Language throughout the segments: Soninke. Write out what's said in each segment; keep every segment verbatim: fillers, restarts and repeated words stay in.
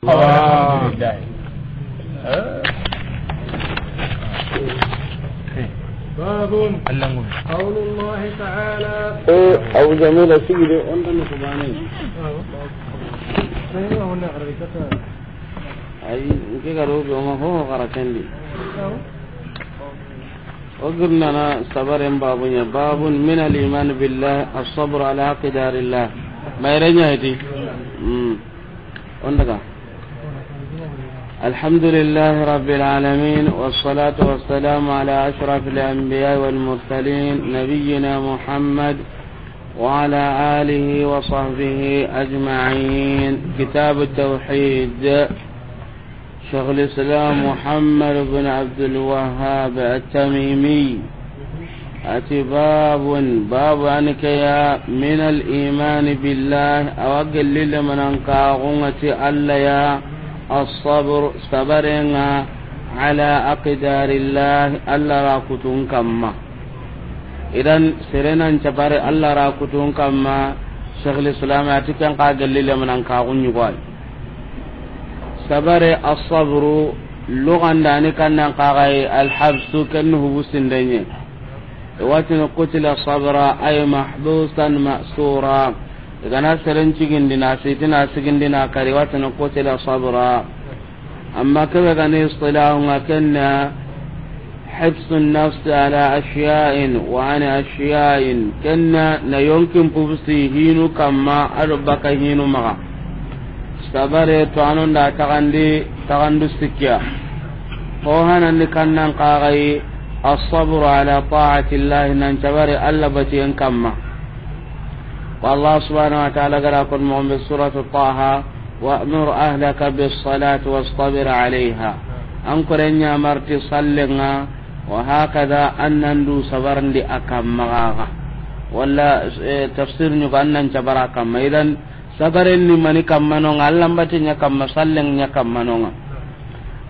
Alhamdulillah. باب قول الله تعالى. Eh, Abu Jamila, sigi de, o nta no kubane. Ay, nke ga ro be ma ho gara kendi. O girnana sabaren babu ɲa, باب من الإيمان بالله الصبر على أقدار الله. Mayre ɲa heti. Hmm. O ndaga. الحمد لله رب العالمين، والصلاة والسلام على أشرف الأنبياء والمرسلين، نبينا محمد وعلى آله وصحبه أجمعين. كتاب التوحيد. شيخ الإسلام محمد بن عبد الوهاب التميمي. A ti باب، باب يعني كيا من الإيمان بالله، a wa gelli lemanan kaxunga ti Alla ya, الصبر، sabarenga, على أقدار الله، Alla ra kutun kamma. Idan, serenan cabare Alla ra kutun kamma, Sheikhul Islam a ti ken xa gelli lemanan kaxun ɲugo ay. Sabare, الصبر, lugandani kannan kaxayi, الحبس, ken hubu sindenye. I wa tini قتل صبرا، أي محبوسا مأسورا. I ga na seren cigindina, sitina sigindina kari, i wa tini قتل صبرا. Amma kebe ga ni istilahunga, ken na حبس النفس على أشياء وعن أشياء. Ken na na yonkin pubusi hinu kamma, a do baka hinu maxa. Sabare to anon da taxandi, taxandu sikkiya. Ho hanandi kannan kaxayi, الصبر على طاعة الله، nan cabari Alla batiyen kamma. Wa Allah subhanahu wa ta'ala ga da ko moxo be Suratu Taha, وأمر أهلك بالصلاة واصطبر عليها. An koren ɲamarti sallenga, wa hakada, an nan du sabarndi a kamma gaga. Walla, eh, tafsir ɲugo an nan cabara kamma. Idan, sabaren ni mani kamma nonga, Alla mbati ɲa kamma, sallen ɲa kamma nonga.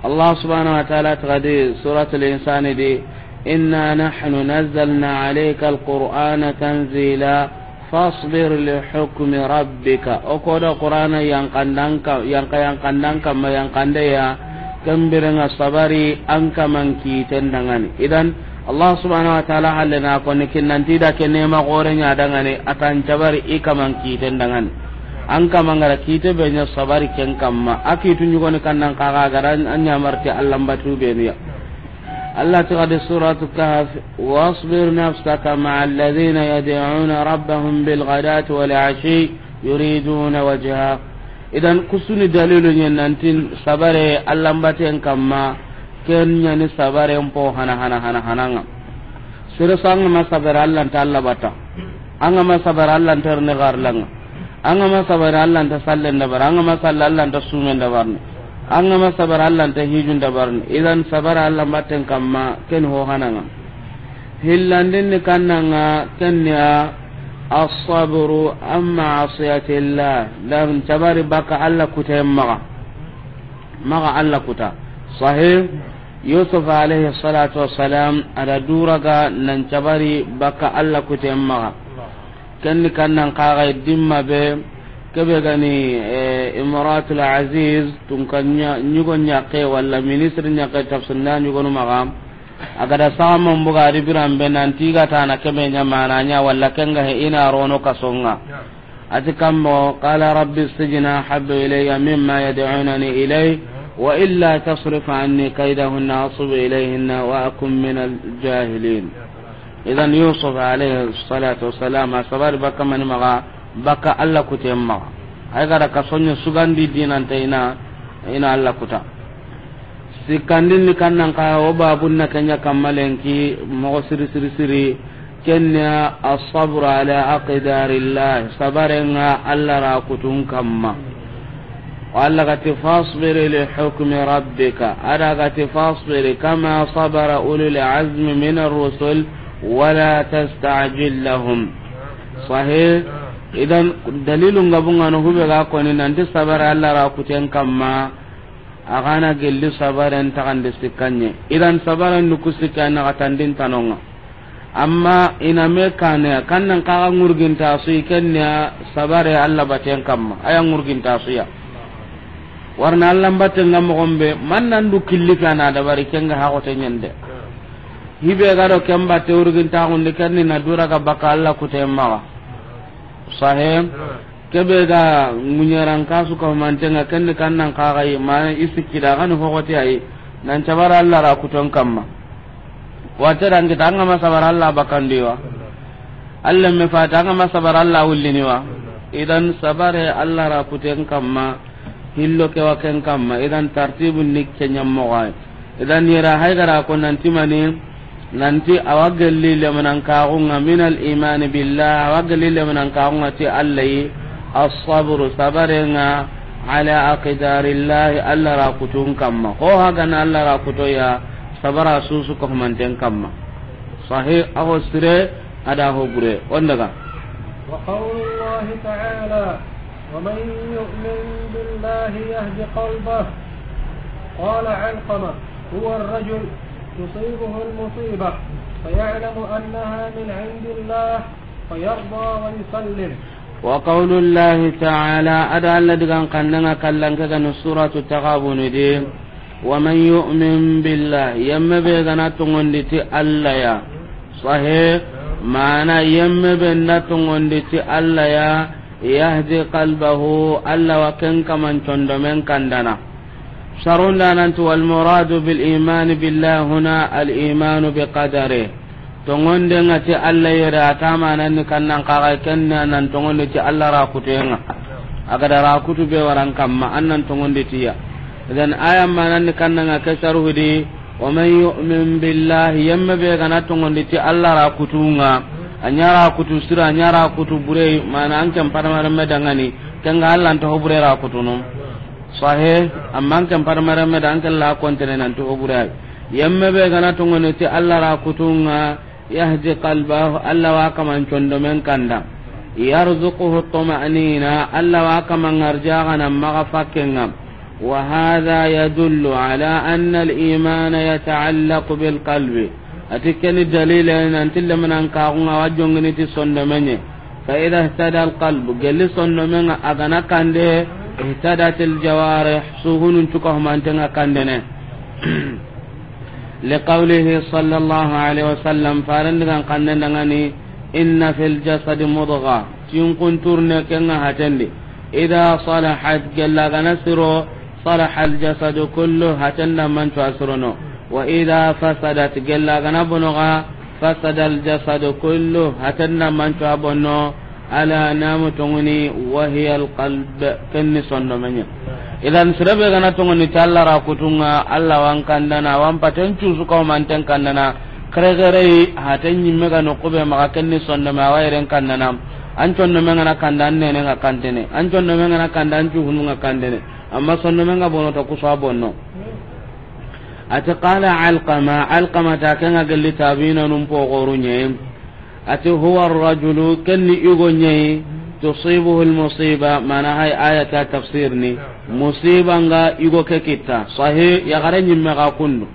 Allah subhanahu wa ta'ala taxadi Suratul Insani di, إنا نحن نزلنا عليك القرآن تنزيلا. فاصبر لحكم ربك. O ko da Qur'ana yankandan ka, yanka yankandan kamma yankande ya, ken birenga sabari an kaman kiten dangani. Idan, Allah subhanahu wa ta'ala halle na ko ni kinnanti da ke nema gore ɲa dangani, a tan cabari i kaman kiten dangani. An kaman gara kite be ɲa sabari ken kamma. A kitu ɲugoni kannan kaga gara an ɲamarti Alla mbatu be niya. Allah ti gadi Suratu Kahf, واصبر نفسك مع الذين يدعون ربهم بالغداة والعشي يريدون وجهه. Idan kusuni dalilu ɲen nantin sabare Alla mbaten kamma, ken ɲani sabaren po hana hana hana hananga. Sere so an ga ma sabari Alla nta Alla bata. An ga ma sabari Alla nta rene garlanga. An ga ma sabari Alla nta sallen dabar. An ga ma salla Alla nta sumen dabarni. An ga ma sabari Alla nta hijun dabarni. Idan sabari Alla mbaten kamma ken ho hananga. Hillandin ni kannanga ken ya الصبر عن معصية الله. Dan cabari baka Alla kuten maxa. Maxa Alla kuta. Sahih. Yusuf alayhi salatu wassalam, a da duraga nan cabari baka Alla kuten maxa. Ken ni kannan kaga dimma be, kebe gani, eh, Imratul Aziz, tunka ɲa-, ɲugo ɲakke walla ministre ɲakke tafsir na ɲugonu maxa. A ga da saxaman buga di biran be nanti ga tana kebe ɲa mana ɲa walla ken ga he i na rono kasonga. A ti kammo, قال رب السجن أحب إلي مما يدعونني إليه وإلا تصرف عني كيدهن أصب إليهن وأكن من الجاهلين. Idan Yusuf alayhi salatu wassalam, a sabari baka mani maxa, baka Alla kuten maxa. Ay ga da kasoɲa sugandi dinante i na, i na Alla kuta. Sikkandin ni kannan ka, o babun na ken ya kamma lenki, moxo siri, siri, siri, ken ya الصبر على أقدار الله, sabarenga Alla ra kutun kamma. Wa Alla ga ti, فاصبر لحكم ربك, a da ga ti, فاصبر كما صبر أولو العزم من الرسل ولا تستعجل لهم. Sahih. Idan dalilun ga bungano hube ga koni nanti sabare Alla ra kuten kamma. A ga na gelli sabaren taxande sikkanye. Idan sabaren nuku sikka na xatandin tanonga. Amma i na me kane, kannan kaga ŋurginta su i ken ya sabare Alla baten kamma. A ya ŋurginta su ya. Warna Allah mbatte nga moxon be, man nan du killi kana dabari, ken ga haxote ɲande. Hibe ga do ken batte urgin taxundi, ken ni na dura ga baka Allah kute maxa. Sahe. Kebe ga ŋuɲaran kasu ka mantenga, ken ni kan nan kaxayi, mana i sikki da gani hoxote ayi, nan cabara Allah ra kuton kamma. Wate dan kita anga ma sabara Allah bakandiwa. Allah me fata anga ma sabara Allah wulliniwa. Idan sabare Allah ra kuten kamma. Hillo ke wa ken kamma. Idan tartibu ni ke ɲammoxo ay. Idan yera haygara ko nanti mani, nanti awa gelli lemanan kaxunga min al imani billah, awa gelli lemanan kaxunga ti Allah yi, as-sabru, sabarenga, ala aqdarillahi, Allah ra kutun kamma. Ho hagana Allah ra kutoya, sabara susu ko manten kamma. Sahe, aho sire, ada ho bure. On daga. وقول الله تعالى: ومن يؤمن بالله يهد قلبه. قال علقمة: هو الرجل تصيبه المصيبة فيعلم أنها من عند الله فيرضى ويسلم. وقول الله تعالى، ada Allah digan kannanga kallan ke gani suratu Taghabun di. ومن يؤمن بالله، yemme be gana tongondi ti Allah ya. Sahe, mana yemme be nda tongondi ti Allah ya, yahdi qalbahu, Allah wa ken kaman condomen kandana. Sarunda nanti, والمراد بالإيمان بالله هنا الإيمان بقدره. Tongonde nga ti Allah yere, a ta manan ni kannan kaga, kenna nan tongonde ti Allah ra kutenga. Aga da ra kutu be waran kamma, an nan tongonde tiya. Idan aya manan ni kannan nga ke saruhudi, ومن يؤمن بالله, yemme be gana tongonde ti Allah ra kutunga. A ɲa ra kutu sira, a ɲa ra kutu bure, mana an ken padamare me dangani, kenga Allah nta ho bure ra kutunu. Sahe, amma an ken padamare me da an ken la kontene nan ti ho bure ay. Yemme be gana tongone ti Allah ra kutunga, yahdi qalbahu, Allah wa kaman condomen kanda. Yarzuquhu tuma'nina, Allah wa kaman arjaxana maxa fakkenga. وهذا يدل على أن الإيمان يتعلق بالقلب. Ati keni dalile nanti lemanan kaxunga wa jongini ti sondomenye. فإذا اهتدى القلب, gelli sondomenga agana kande, اهتدت الجوارح, suhunun cuka humantenga kandene. لقوله صلى الله عليه وسلم, farandigan kannen dangani, إن في الجسد مضغة, tinkun turne kenga hatendi. إذا صلحت, gella gana siro, صلح الجسد كله, hatenda mancu asirono. وإذا فسدت, gella gana bonoga, فسد الجسد كله, hatenda mancu abonno. ألا, namu tonguni, وهي القلب, kenni sondomenye. Idan sirebe gana tongoni ti Allah ra kutunga, Allah wan kandana, wan paten cusu kaw manten kandana. Kere kere yi, haten nyimme ga no kube maga, kenni sondome awa yeren kandana. An condomen gana kanda, an nene nga kandene. An condomen gana kanda, an cuhunu nga kandene. Amma sondomen ga bono ta kusa bonno. Ati قال علقمة, Alqama ta kenga gelli tabina num po gorunye. Ati هو الرجل, kenni igo nyai, تصيبه المصيبة, mana hay ayata tafsir ni, musiba nga igo ke kita. Sahe, ya gare nyimme ga kundu.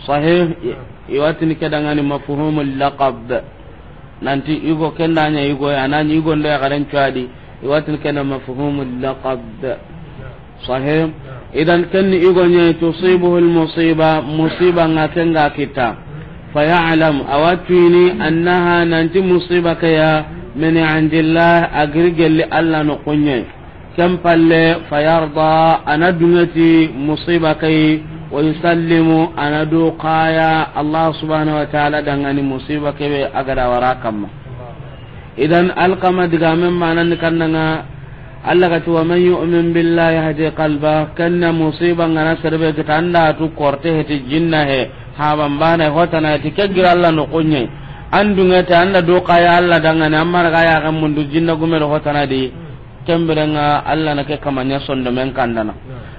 Sahe, i-, iwatini kedangani مفهوم اللقب. Nanti igo kenda nya igo ya, nani igo nda ya garen cuadi, iwatini kenda مفهوم اللقب. Sahe. Idan kenni igo nya, تصيبه المصيبة, musiba nga kenga kita. فيعلم, awatini, أنها, nanti musiba ke ya, من عند الله, agiri gelli Allah no kunye. Ken palle, فيرضى, ana dungeti musiba ke, ويسلم, ana du kaya Allah subhanahu wa ta'ala dangani musiba ke be agada wara kamma. Idan Alqama digamen manan ni kannanga, Allah ga ti, ومن يؤمن بالله يهد قلبه, kenna musiba ngana serbe kita anda tu korte heti jinna he, haban bana hotana heti ke gira Allah no kunye. An dungete anda do kaya Allah dangane, amma ga ya kan mundu jinna gume do hotana di. Kemberenga Allah na ke kamanya sondomen kandana.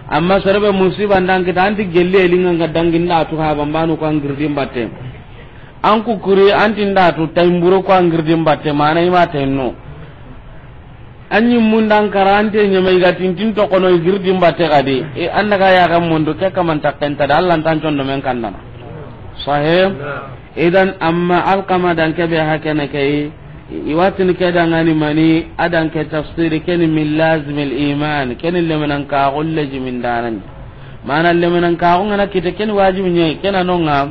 Amma serbe musiba ndan kita anti gelle elinga nga danginda tu haban banu ko an girdin batte. An kukuri anti nda tu taimburo ko an girdin batte, mana ima tenno. Anyi mundan karante nyamai ga tintin to kono girdin batte gadi. E annaga ya ga mondo ke kaman takenta da Allah tan condomen kandana. Sahe. Idan amma Alqama dan kebe hakene kai. I wa tini ke dangani mani, a dan ke tafsiri, ke ni min lazimil iman, ke ni lemenankaaxu lezimindaana ni. Mana lemenankaaxu ga na kite, ke ni wajibi ɲa yi, ke na no ŋa.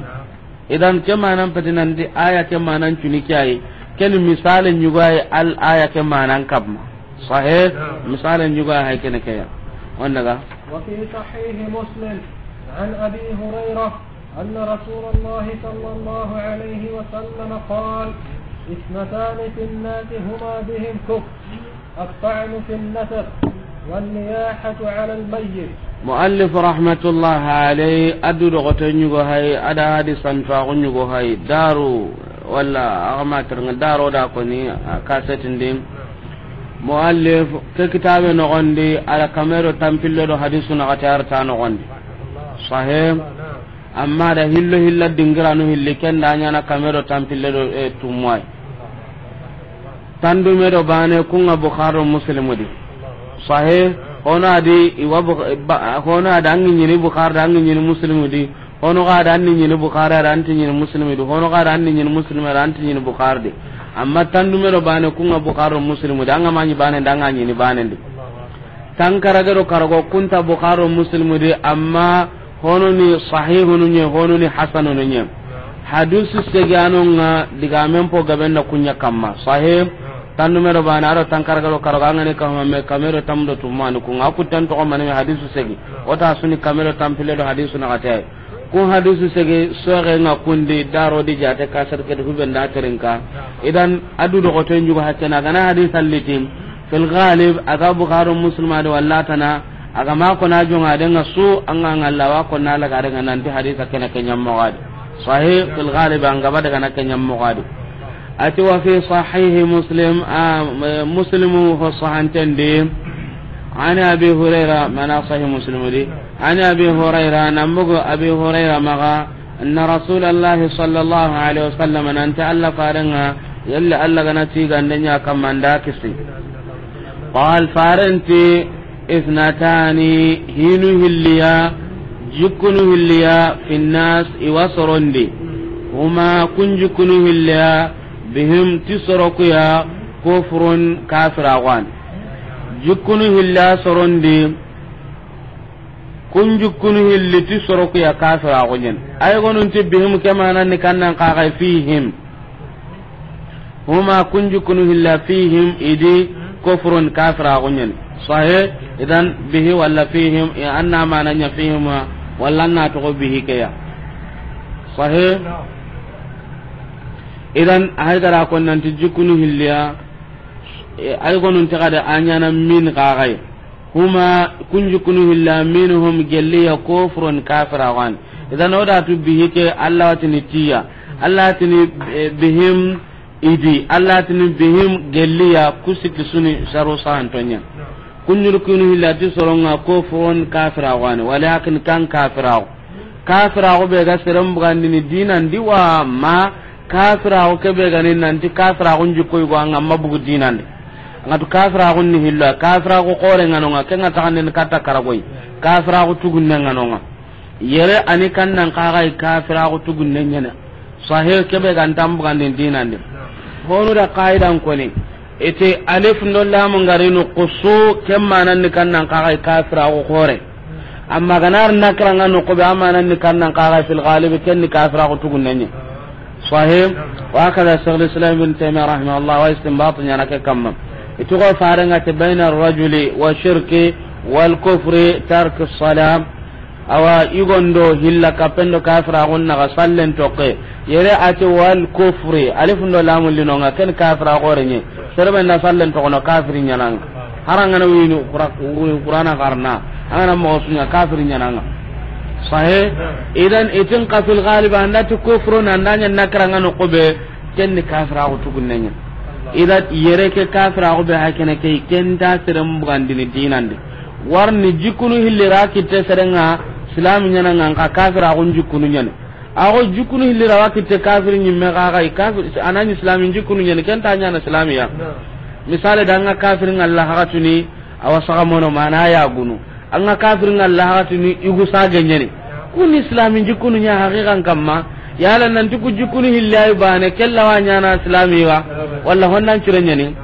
Idan ke manan peti nanti aya ke manan cuni ke yi, ke ni misale ɲugo yi al aya ke manan kamma. Sahih, misale ɲugo yi hay ke ni ke ya. Wanda ga. وفي صحيح مسلم عن أبي هريرة أن رسول الله صلى الله عليه وسلم قال: اثنتان في الناس هما بهم كفر، الطعن في النسب والنياحة على الميت. Muallif rahmatullah alayhi, a du doxoto ɲugo hay, a da hadisan tuwaxu ɲugo hay, daru, walla a ga ma terŋa daru da koni, a kasetindi. Muallif, ke kitabe noxondi, a da kame do tanpille do hadisu naxati a ra ta noxondi. Sahih. Amma da hillo hilla dingiranu hilli, ken da ɲaana kame do tanpille do, eh, tumuwai. Tandume do bane, ku ŋa Bukhari do Muslimu di. Sahih, hono a di, i wa Bukh-, ba-, hono a da an ŋi ɲini Bukhari da, an ŋi ɲini Muslimu di. Hono ga da an ni ɲini Bukhari da, an ti ɲini Muslimu di. Hono ga da an ni ɲini Muslimu da, an ti ɲini Bukhari di. Amma tandume do bane, ku ŋa Bukhari do Muslimu di. An ga ma ɲi bane da, an ga ɲini bane di. Tankarage do karago ku nta Bukhari do Muslimu di, amma hono ni sahihunu ɲa, hono ni hasanunu ɲa. Hadisu segi a no ŋa, digamen po gaben da ku ɲa kamma. Sahih, tandume do bane, a do tankarage do karago, an ga ni kame, kame do tanmu do tumani, ku ŋa ku tan toxo mani hadisu segi. O ta su ni kame do tanpille do hadisu naxati. Ku hadisu sege soxe ŋa kundi daro di jate kasar ke du hube nda terinka. Idan a du doxoto ɲugo hakkena gana hadis allitin. Fil ghalib, a ga Bukhari Muslim a di walla tana, a ga ma kona jonga de ŋa su, an ga ŋalla wa kona laga de ŋa nanti hadisa kena ke ɲammo ga di. Sahih, fil ghalib, an ga ba daga na ke ɲammo ga di. A ti wa fi sahih Muslim, a, Muslimu ho sahanten di. An Abi Hurayra, mana sahih Muslim di. An Abi Hurayra, nan bogu Abi Hurayra maxa, anna Rasulallahi sallallahu alaihi wasallam, nanti Alla farenga, yalla Alla gana tigande ɲa kamma nda kisi. Qal, farenti, ithnatani, hinu hilliya, jikkunu hilliya, finnas, i wa sorondi. Huma, kun jikkunu hilliya, bihim, ti sorokuya, kufrun, kafiraxu wa ni. Jikkunu hilliya sorondi, kun jikkunu hilli ti sorokuya kafiraxu ɲa ni. Ay gonun ti bihim ke manan ni kannan kaxay fihim. Huma kun jikkunu hilla fihim i di kufrun kafiraxu ɲa ni. Sahih, idan bihi walla fihim, i anna mana ɲa fihim walla na toxo bihi ke ya. Sahih. Idan hay gara kon nanti jikkunu hilliya, e, ay gonun ti xade a ɲana min kaxay. Huma kun jikkunu hilla minhum gelliya kufrun kafiraxu wa ni. Idan o da tu bihi ke Alla wa tini tiya. Alla tini, eh, bihim i di. Alla tini bihim gelliya ku sikki su ni saru sahanto ɲa. Kun jikkunu hilla ti soronga kufrun kafiraxu wa ni. Walakin kan kafiraxu. Kafiraxu be ga seren bugandini dinan di wa ma kafiraxu ke be ga ni nanti kafiraxu jikko yugo anga ma bugu dinan di. Anga tu kafiraxu ni hillo, kafiraxu xore nga no ŋa, ke nga taxandini katta karagoy. Kafiraxu tugunne nga no ŋa. Yere ani kannan kaxay kafiraxu tugunne ɲa ni. Sahih, ke be ga nta bugandini dinan di. Honu da qaidan koni. Iti alif ndo lamu ngari noqu su, ke manan ni kannan kaxay kafiraxu xore. Amma ganar nakra nga noqu be, a manan ni kannan kaxay fil ghalib, ken ni kafiraxu tugunne ɲa. Sahih. Wa hakada Shaykhul Islam Ibn Taymiyyah rahimahullah wa istinbat ɲana ke kamma. Iti xo farenga ti bayna rajuli wa shirki wal kufri tark salam. Awa, i gondo hilla kappendo kafiraxun naxa sallen tokke. Yere a ti wal kufri, alif ndo lamu linonga, ken kafira xore ɲa. Serebe nda sallen tokono kafiri ɲananga. Harangana wini Qura-, wini Qur'ana xarana. Angana moxo su ɲa kafiri ɲananga. Sahih. Idan itin ka fil ghalib anda ti kufru na anda ɲa nakra nga noqu be, ken ni kafiraxu tugunne ɲa. Idan yere ke kafiraxu be hakene ke, ken ta seren bugandini dinan di. Warni jikkunu hilli ra kitte serenga, silami ɲananga, nka kafiraxun jikkunu ɲa ni. Axo jikkunu hilli ra wa kitte kafiri ɲimme xaxa, i kafir, anani silami jikkunu ɲa ni, ken ta ɲana silamiya. Misale da nga kafiri nga Allah haxatuni, awa saxa mono mana ya gunu. Anga kafiri nga Allah haxatuni, i gu sage ɲa ni. Kuni silami jikkunu ɲa haqiqan kamma. Yala nanti ku jikkunu hilli ay bane, kella wa ɲana silami wa. Walla honnan cire ɲani?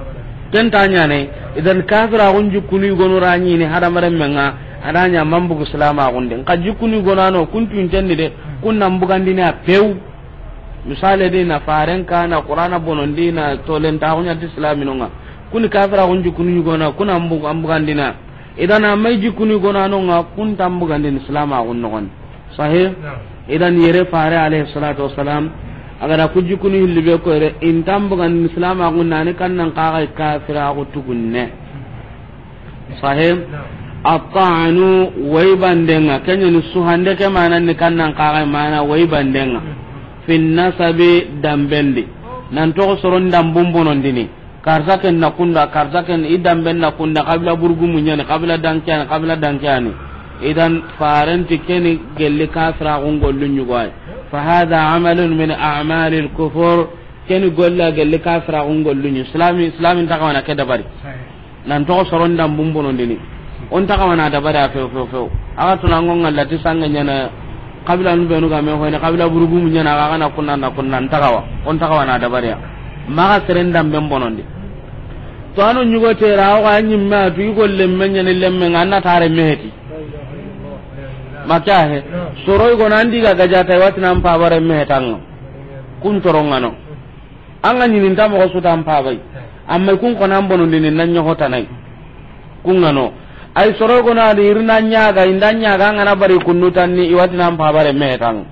Ken ta ɲane. Idan kafiraxun jikkunu yogonu ra ɲini hadamarenmen ŋa, a da ɲa mambugu silamaxun di. Nxa jikkunu yogonu ano, kun tunten di de, kun nan bugandini a pew. Misale di na faren ka, na Qur'ana bonondi, na tolentaxu ɲa ti silaminun ŋa. Kuni kafiraxun jikkunu yogonu, kun nan bu-, an bugandini a. Idan a may jikkunu yogonu ano ŋa, kun tan bugandini silamaxun noxon. Sahih? Naam. Idan yere fare alayhi salatu wassalam, a ga da ku jikkunu hilli be ko yere, i ntan bugandini silamaxun na ni kannan kaxa kafiraxu tugunne. Sahih? Naam. At-ta'nu, waybanden ŋa, ken ɲa ni suhande ke manan ni kannan kaxa mana waybanden ŋa. Fi nasabi, damben di. Nan toxo soron dambun bonondini. Karta ken na kunda, karta ken i damben na kunda, kabila burugumu ɲani, kabila dankeyani, kabila dankeyani. Idan farenti keni gelli kafiraxun gollu ɲugoy. Fa hadha amalun min a'malil kufur. Keni golla gelli kafiraxun gollu ɲi. Islami, islami nta kawana ke dabari. Nan toxo soron dambun bonondini. O nta kawana dabari a few, few, few. Axa tuna ŋo ŋa lati sange ɲana. Kabila nu benu ga me hoyne, kabila burugumu ɲana, axa ga na kunna, na kunna, nta kawa. O nta kawana dabariya. Maxa seren damben bonondi. To ano ɲugo tera, o ga ɲimme a tu, i golle me ɲani lemme ŋa, an na tare meheti. Maka he. Soro i gona andi ga gaja tay wati nan pabare mehetanga. Kun toronŋano. An ga ɲini nta moxo su tan pabai. Amma kun xo nan bonondini nan ɲoxo tanai. Kun ŋano. Ay soro gono adi irina ɲaga, inda ɲaga an ga na bari kunnu tanni, i wati nan pabare mehetan.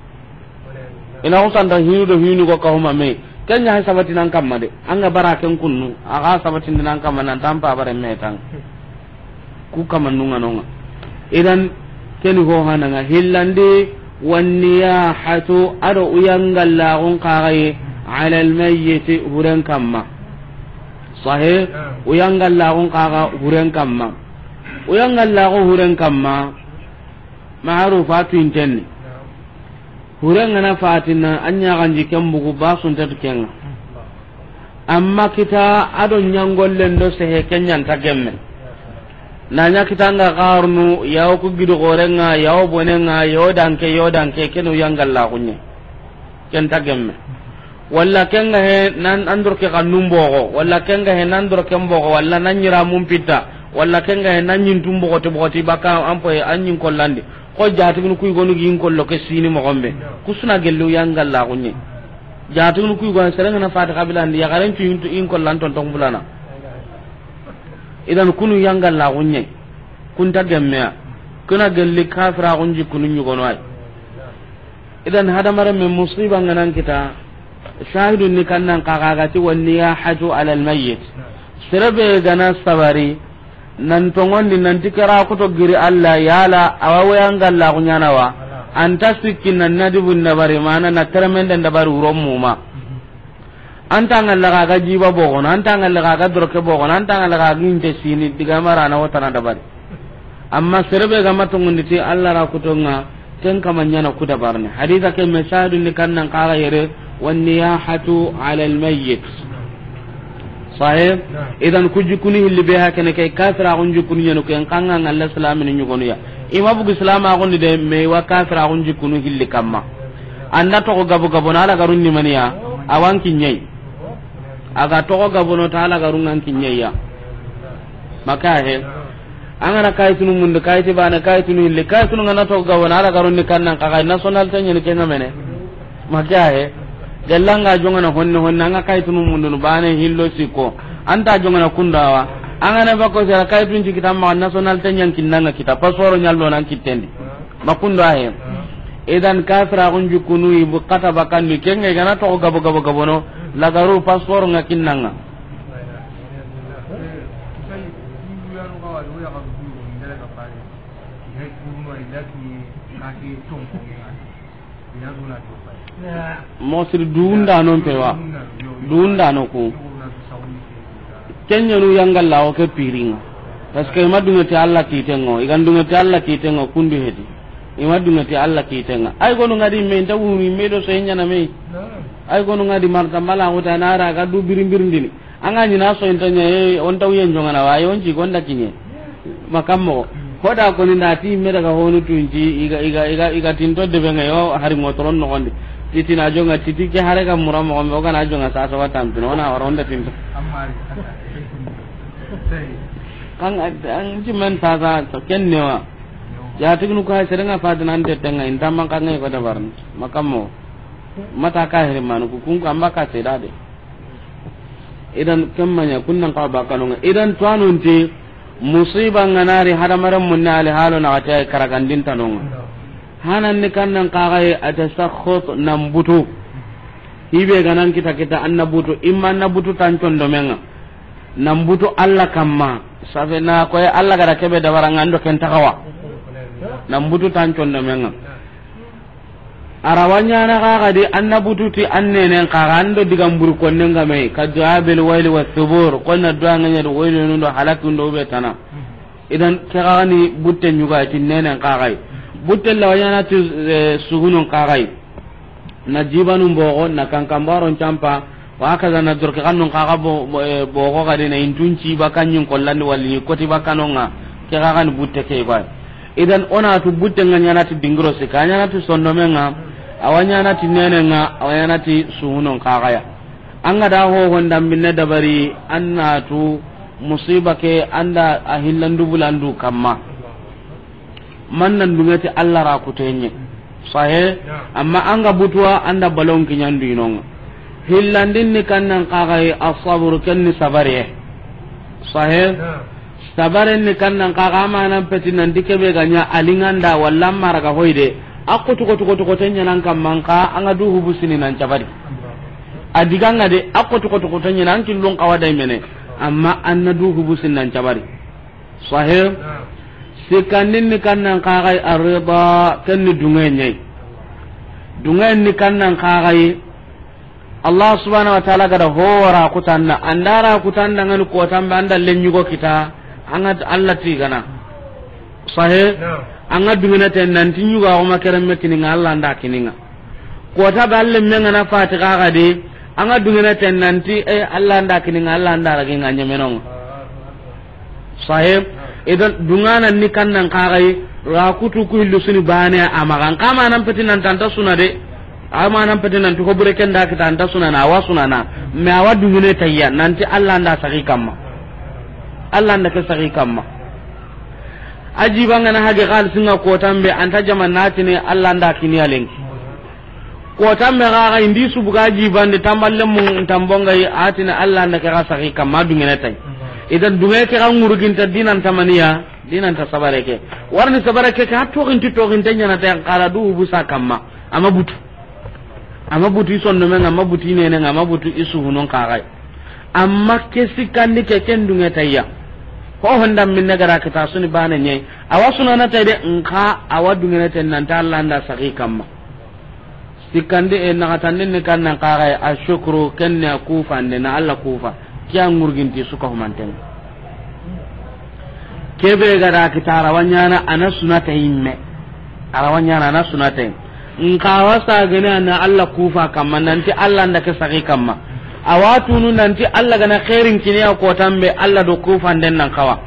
Ina xusanta hinu do hinu go kahuma me. Ken ɲa sabati nan kamma de. An ga bara ken kunnu, a ga sabati nan kamma nan tan pabare mehetan. Ku kamannun ŋa no ŋa. Idan, keni ho hananga hillandi, wanniyahatu, ado uyangallaxun kaxaye, ala almayyiti, huren kamma. Sahe, uyangallaxun kaxa huren kamma. Uyangallaxu huren kamma, maarufa tuintenni. Huren ŋa na fatina, a ɲaxanji ken bugu, ba suntatu kenŋa. Amma kita ado ɲangollen do sehe ke ɲanta gemme. Na ɲa kitanga xarnu, yawo ku gido xorenŋa, yawo bonenŋa, yawo danke, yawo danke, kenu yangallaxuɲe. Ken ta gemme. Walla kenga he nan andor ke xannun boxo, walla kenga he nan dor ken boxo, walla nan ɲira mun pitta, walla kenga he nan ɲintum boxoti boxoti baka an poye an ɲin kollandi. Xo jatigunu kuy gonu gin kollo ke sini moxombe. Kusuna gellu yangallaxuɲe. Jatigunu kuy gonu serenga na fati xabilandi, yaxaren cu in kollan tonton bulana. Idan kunu yangallaxuɲe. Kunta gemmeya. Kuna gelli kafiraxun jikkunu ɲugono ay. Idan hadamaren me musiba ŋa nan kita, shahidun ni kannan kaxa gati, wanniyahatu ala almayyit. Serebe gana sabari, nan tongondi, nan ti kera kuto giri Allah, yala awa wayangallaxu ɲana wa, anta sikki nan na dibun dabari, mana na teremenden dabari wuron muma. Anta ngalla ga ga jiba bogono, anta ngalla ga ga doroke bogono, anta ngalla ga ga inte sini diga mara na wotana dabari. Amma serebe ga matongundi ti Allah ra kutonga, ken kama ɲana ku dabarne. Haditha ke me shahidun ni kannan kaga yere, wanniyahatu ala almayyit. Sahih? Idan ku jikkunu hilli be hakene ke kafiraxun jikkunu ɲanu ken kanga ngalla islamini ɲugonu ya. Ima bugu islamaxundi de, me wa kafiraxun jikkunu hilli kamma. Anda toxo gabo gabo na ala garun ni maniya, awan kiɲei. Aga toxo gabono ta ala garun an kiɲeiya. Maka he. An gana kayitunu mundu, kayiti bane, kayitunu hilli, kayitunu ngana toxo gabono ala garun ni kannan kaga national tenye ni kenga mene. Maka he. Gellanga jongana honne honne, anga kayitunu mundu bane hillo siko. Anta jongana kundawa. An gana bako sera kayitun ci kitamma national tenye kinnanga kita, pasoro nyallo nan kittendi. Makundo ahe. Idan kafiraxun jikkunu ibu kata bakandi kenga igana toxo gabo gabo gabono lagaru passeport nga kinnanga. Mosiri duundano mpe wa. Duundano ku. Kenyanu yangalla o ke piringa. Parce que ima dunga ti Allah kitengo, igan dunga ti Allah kitengo kundu hedi. Ima dunga ti Allah kitenga. Ay gonu ngadi me nta wuru me do so nyana me. Ay gonu ngadi marta mala ko ta nara ga du birim birim dini. Anga ni na so intanya e on taw yen jongana wa e on ci gonda kinye. Makammo. Hoda ko ni ndati me daga honu tunji iga iga iga iga tinto de be ngayo hari ngotoron no gondi. Titi na jonga, titi ke hare ga mura moxo be, o ga na jonga sasa wa tampino, o na wara o nda tinto. Kan an ti men sasa, to ken ne wa. Ya tignu ka sere nga fadina ante tenga, inta man kan ngai ko dabarni. Makamo. Mata ka hiri manu ku kun ko amba ka seda de. Idan kemmanya kunnan ka bakanonga. Idan tuwanunti musiba nga nari hadamaren munne ali halo na gati ay karagandin tanonga. Hanan ni kannan kagai atasakhut nan butu. Hibe ganan kita kita anna butu, imma anna butu tan condomenga. Nan butu Allah kamma. Safe na koy Allah gara kebe dabaranga ando ken tagawa. Nan butu tan condomenga. Arawa ɲana kaga di anna bututi annenen kaga ando digan buri konnen game ka du'a bil waili wa thubur, konna du'a nganya do waili nundo halaki ndo be tana. Idan ke kaga ni butte nyuga ti nenen kagai. Butte lawa ɲana ti, eh, sugunun kagai. Na jibanun bogo, na kankambaron campa, wa kaza na dorke kannun kaga bo, bo, eh, bogo gadi na intun ci bakanyin kollandi walli koti bakanonga, ke kaga ni butte ke ba. Idan ona tu butte nga ɲana ti dingiro sika, ɲana ti sondomenga, awa ɲana ti nenenga, awa ɲana ti suhunon kagaya. Anga da ho honda minne dabari, anna tu musiba ke anda a hillandu bulandu kamma. Man nan dungeti Allah ra kutenye. Sahe, amma anga butuwa anda balon kinyandu inonga. Hillandin ni kannan kagai asabur ken ni sabare. Sahe, sabaren ni kannan kaga amanan peti nan dikebe ganya alinganda walla maraga hoide. Akko tuko tuko tuko tenya nan kamman ka anga du hubusini nan cabari. Adiganga de akko tuko tuko tenya nan killun kawadai mene. Amma anna du hubusini nan cabari. Sahih. Sikandin ni kannan kagai arrida, ken ni dunge nyai. Dunge ni kannan kagai Allah subhanahu wa ta'ala gada hora kutanna, andara kutanna ngani kotambe anda lenyugo kita, anga Allah tigana. Sahih. Anga dungene ten nanti nyuga o makeremme kininga Allah anda kininga. Kota be alle menga na fati kaga de, anga dungene ten nanti, eh, Allah anda kininga, Allah anda raginga nyemenonga. Sahib, idan dungana ni kannan kagai, ra kutu ku hillu suni bane amagan kama nan peti nan tanta suna de. Ama nan peti nan tuko bure kenda kita anta suna na, awa suna na. Me awa dungene tayya nanti Allah anda sagi kamma. Allah anda ke sagi kamma. Aji bangana hage kal singa kotambe anta jaman natine Allah anda kiniya lenki. Kotambe ga ga indi subuga jibande tamballe mun tambonga yi atine Allah nda ke ga sagi kamma dungene tay. Idan dunge ke ga nguruginta dinan tamaniya, dinan ta sabare ke. Warni sabare ke ka toxinti toxinte nyana tay kala du busa kamma. Ama butu. Ama butu isondomenga, ama butu inenenga, ama butu isuhunon kagai. Amma ke sikandi ke ken dunge tayya. Ho honda minne gara kita suni bane nyai. Awa sunana tay de nka awa dungene ten nanta Allah nda sagi kamma. Sikandi e naxatandin ni kannan kaxay a shukru kenne a kufande na Allah kufa. Kiya ngurginti suka humanten. Kebe gada kita arawa ɲana ana sunata yimme. Arawa ɲana ana sunata yimme. Nka wa sagene ana Allah kufa kamma nanti Allah nda ke sagi kamma. Awa tunu nanti Allah gana khairin kiniya kotambe Allah do kufanden nan kawa.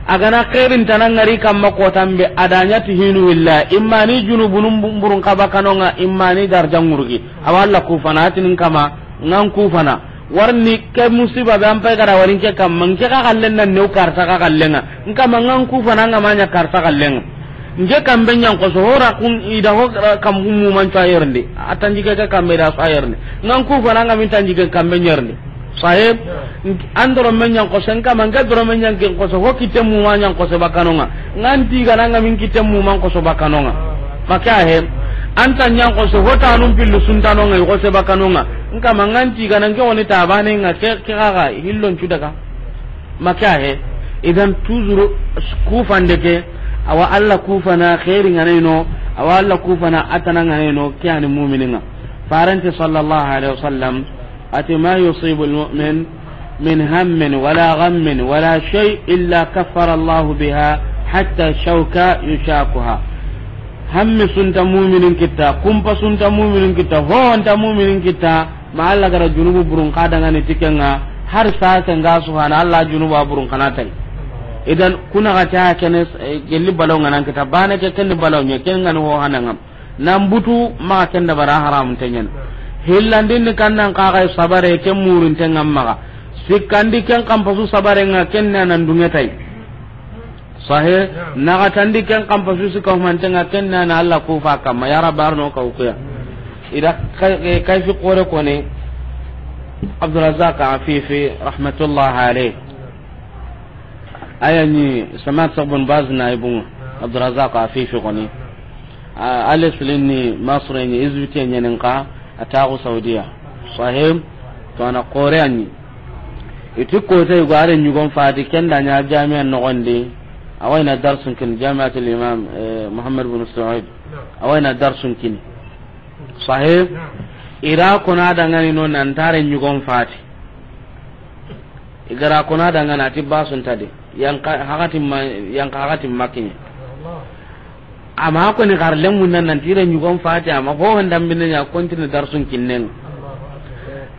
A gana khairin tana ngari kamma kotambe adanya ti hinu illa imma ni junubunun bumburun kaba kanonga imma ni darja ngurgi. Awa Allah kufana atinin kama ngan kufana. Warni ke musiba be ampai gara warin ke kamma nke ka kallen nan new karta ka kallenga. Nkama ngan kufana ngamanya karta kallenga. Nke kambe nyan koso hora kun ida ho kambu muman cayerndi. Atanji ke kambe da sayerndi. Ngan kufana ngamin tanji ke kambe nyerndi. Sahib, andoro men nyan koso nkama nke doro men nyan ken koso ho kitte muman nyan koso bakanonga. Ngan tiga nanga min kitte muman koso bakanonga. Maka he. Anta nyan koso ho tanum pillu suntanonga koso bakanonga. Nkama ngan tiga nan ke woni tabane nga ke ke ga hillon cudaga. Maka he. Idan toujours kufande ke awa Allah kufana khairi nganeno awa Allah kufana atana nganeno ke ani mu'mininga. Farante sallallahu alaihi wasallam ati ma yusibu almu'min min hammin wala ghammin wala shay illa kaffara Allah biha hatta shawka yushakuha. Hammi sunta mu'minin kitta, kumpa sunta mu'minin kitta, ho anta mu'minin kitta. Ma Allah gara junubu burun ka dangani tikenga har sa se nga subhana Allah junubu a burun kana tay. Idan kuna ga ta kene, eh, gelli balaw ngana kita bana ke ken balaw nya ken ngani ho hananga. Nan butu maxa ken dabari, a haramun te ɲaana. Hillandin ni kan nan kaxay sabare, ken murun te ŋa maxa. Sikkandi ken kan pasu sabare ŋa, ken na nan dunŋe tay. Sahe, naxatandi ken kan pasu sikka humante ŋa, ken na na Alla kufa kamma, ya Rabbi, arno ka wukuya. Ida kay-, eh, kayfi xore koni, Abdurrazzaq Afifi, rahmatullah alayh. Aya ni Samat Sabbun Baz na ibun Abdurrazzaq Afifi koni. A, a leslin ni Masre ni, izbite ɲanin ka, a taxu Saudiya. Sahib, to a na xore a ɲi. Iti kote yugo a ren ɲugon fati, ken da ɲa jami'a noxondi. A wa i na darsun kini, Jami'atul Imam, eh, Muhammad bin Saud. A wa i na darsun kini. Sahib, i ra kona dangani no nan ti a ren ɲugon fati. I ga ra kona dangana ti basun ta de. Yanka hakatin ma, yanka hakatin ma kiɲe. Amma ko ni xar lemmun nan nan ti ren ɲugon fati, amma ho hon dambinde ɲa kontine darsun kinnen.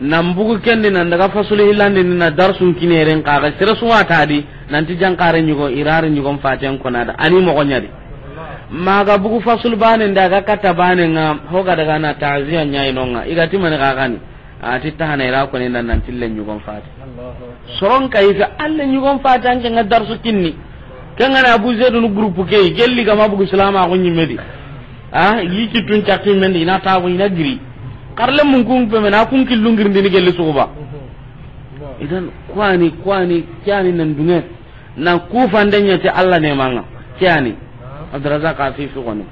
Nan bugu kendi nan daga fasulu hillandi ni na darsun kineren kaga sere suwa ta di, nan ti jankare ɲugo, i ra ren ɲugon fati an kona da. Ani moxo ɲa di. Maga bugu fasulu bane nda ga katta bane ŋa, ho ga daga na ta'ziya ɲa i no ŋa. I ga ti mani kaga ni. A ti tahana i ra koni nan nan ti ren ɲugon fati. Soron kayfi a ren ɲugon fati an ke ŋa darsu kinni. Ken ŋa na Abu Zaidun groupe ke, gelli ga ma bugu silamaxu ɲimme di. A, yi kittun cakki men di, i na tabu, i na giri. Xar lemmun kun pe men, a kun killun girindini gelli suxuba. Idan, kwani, kwani, kyani nan dunŋe. Na kufande ɲa ti Alla ne ma ŋa. Kyani. Abdurrazzaq Afifi koni.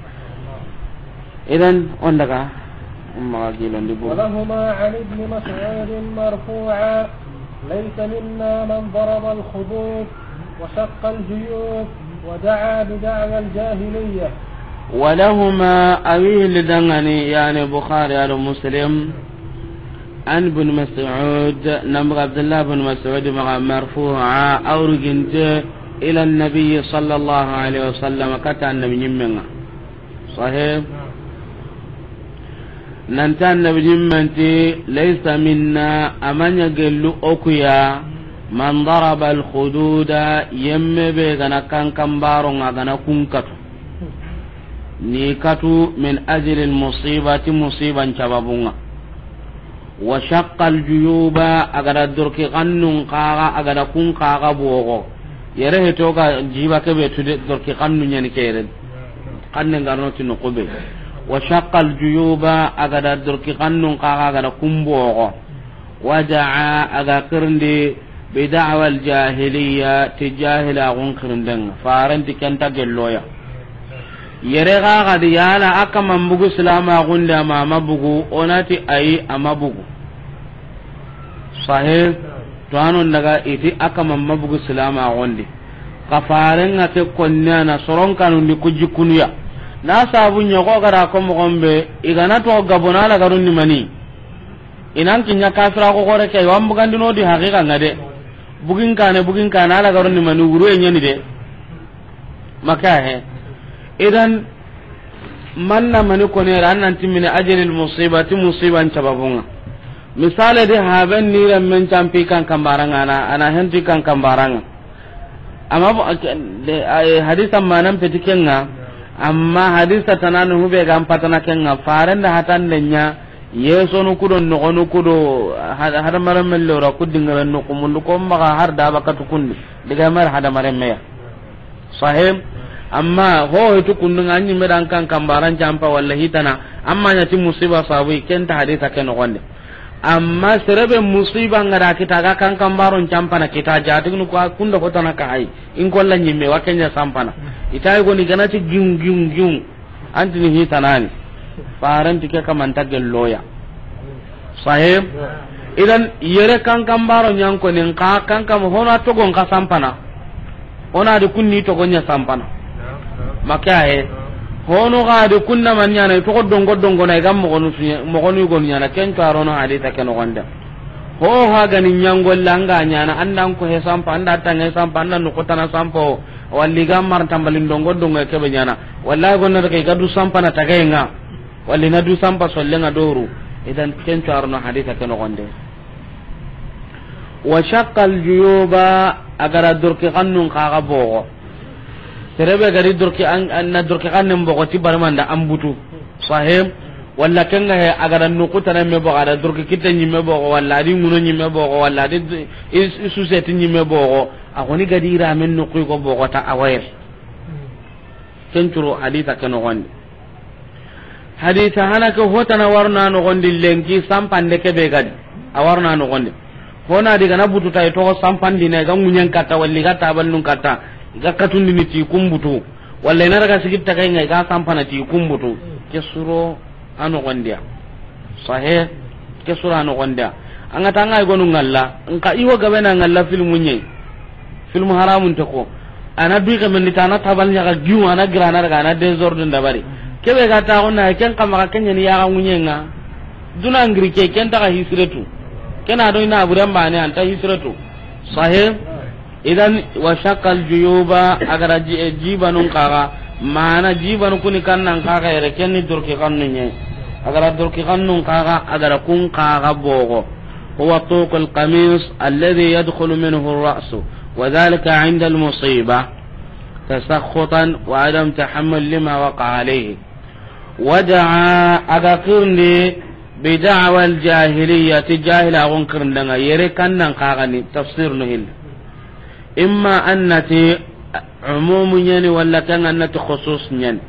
Idan, on daga, umma gilon di buru. ولهما عن ابن مسعود مرفوعا: ليس منا من ضرب الخدود وشق الجيوب ودعا بدعوى الجاهلية. ولهما، a wi hilli dangani, yani Bukhari ado Muslim, عن ابن مسعود، nan bugu Abdullah bin Mas'ud maxa, مرفوعا، a wurginte, إلى النبي صلى الله عليه وسلم، katta Annabi ɲimmen ŋa. Sahih. Nan ti Annabi ɲimmen ti, ليس منا، a ma ɲa gellu o ku ya, من ضرب الخدود، yemme be ga na kankanbaro ŋa, ga na kun katu. Ni katu, من أجل المصيبة، ti musiban sababun ŋa. وشق الجيوب، a ga da dorki kannun kaga, a ga da kun kaga bogo. Yere heto ga jiba kebe tude, dorki kannu ɲani kere. Kanne ngarno ti no kube. وشق الجيوب، a ga da dorki kannun kaga, a ga da kun bogo. ودعا، a ga kirindi, بدعوى الجاهلية، ti jahilaxun kirinden ŋa. Faranti ken ta gelloya. Yere ga ga di yala a kaman bugu silamaxun di, a ma ma bugu, o na ti ayi, a ma bugu. Sahih. To anon daga i ti a kaman ma bugu silamaxun di. Xa faren ŋa ke konni a na soron kanun di ku jikunu ya. Na sabu ɲa xo ga da ko moxon be, i ga na to gabona la garun ni mani. I nan kiɲa kafira xo xore ke, wa n bugandino di haqiqa ŋa de. Bugin kane, bugin kane, a la garun ni mani, wuru e ɲani de. Maka he. Idan, man na mani koni ra, an nan ti من أجل المصيبة، ti musiban sababun ŋa. Misale di, haben ni ren men campi kankanbara ŋa, a na, a na henti kankanbara ŋa. Amma bo-, ke-, de, ay, hadisa manan peti ken ŋa, amma hadisa tanani hube ga n patana ken ŋa, faren da hatande ɲa, yesonu kudo, noxonu kudo, had-, hadamaren men lora ku dingaren noxu mundu, ko maxa har da bakatu kundi, diga mar hadamaren meya. Sahim, amma ho hitu kundu ŋa, an ɲimme da an kankanbaran campa walla hitana, amma ɲa ti musiba sabu, ken ta hadisa ke noxon de. Amma sere be musiba ŋa da kita, a ga kankanbaron campana kita, jatiginu ko a kunda hotana ka hay. In kolla ɲimme, wa ken ɲa sampana. Ita yi goni ga na ti giun, giun, giun. An ti ni hitanani. Faranti ke kaman ta gelloya. Sahib. Idan yere kankanbaro ɲa n koni, n ka kankan hono a togon ka sampana. Hono a di kunni togo ɲa sampana. Maka he. Hono ga di kunna man ɲana, togo dongo dongo na, i ga moxonu suɲe, moxonu yugonu ɲana, ken to a rono hadisa ke noxon de. Ho ha ga ni ɲangolla an ga ɲana, an da n ko he sampa, an da tange sampa, an da noxu tana sampa, walli ga mar tambalin dongo dongo ke be ɲana. Wallahi gonna daga i ga du sampana tagaye ŋa. Walli na du sampa solle ŋa doru. Idan ken to a rono hadisa ke noxon de. Wa shaqqal juyuba, a ga da dorki xannun kaga bogo. Sere be ga di dorki an, an na dorki xannen bogo ti barmanda an butu. Sahib, walla ken ga he, a ga da noqu tana me boxo, a da doroki kitte ɲi me boxo, walla a di ŋuno ɲi me boxo, walla a di i, i suseti ɲi me boxo, a xoni ga di i ra men noqu ko boxo ta a wa yere. Ken curo hadisa ke noxondi. Hadisa hana ke hotana warna noxondi lenki sampande ke be ga di. A warna noxondi. Hona di ga na butu ta i toxo sampandi ne ga ŋuɲen katta, walla i ga tabalnun katta, i ga katundini ti kumbutu. Walla i na daga sigi ta kay ŋa i ga sampana ti kumbutu. Ke suro a noxondiya. Sahih. Ke suro a noxondiya. An ga ta ŋa i gonu ŋalla, nka i wo gabe na ŋalla filmu ɲe. Film haramun te ko. A na du ke men di ta, a na tabal ɲa ga giu, a na gira, a na daga, a na désordre dabari. Ke be ga ta gonna ken kama ga ken ɲa ni ya ga ŋuɲe ŋa. Duna ngiri ke, ken ta ga hisretu. Ken a do i na buren bane an ta hisretu. Sahih. Idan, wa shakkal juyuba, a ga da ji-, jibanun kaga, mana jibanu kuni kannan kaga yere, ken ni doroki kannu ɲe. A ga da doroki kannun kaga, a ga da kun kaga boxo. Huwa tuqul qamis alladhi yadkhulu minhu ar-ra'su, wa dhalika 'inda al-musiba, tasakhutan wa adam tahammul lima waqa alayhi. Wada'a, a ga kirindi, bi da'wa al-jahiliyyati, jahilaxun kirindenga, yere kannan kaga ni, tafsir no hilli. Imma annati umumu ɲani, walla kan annati khusus ɲani.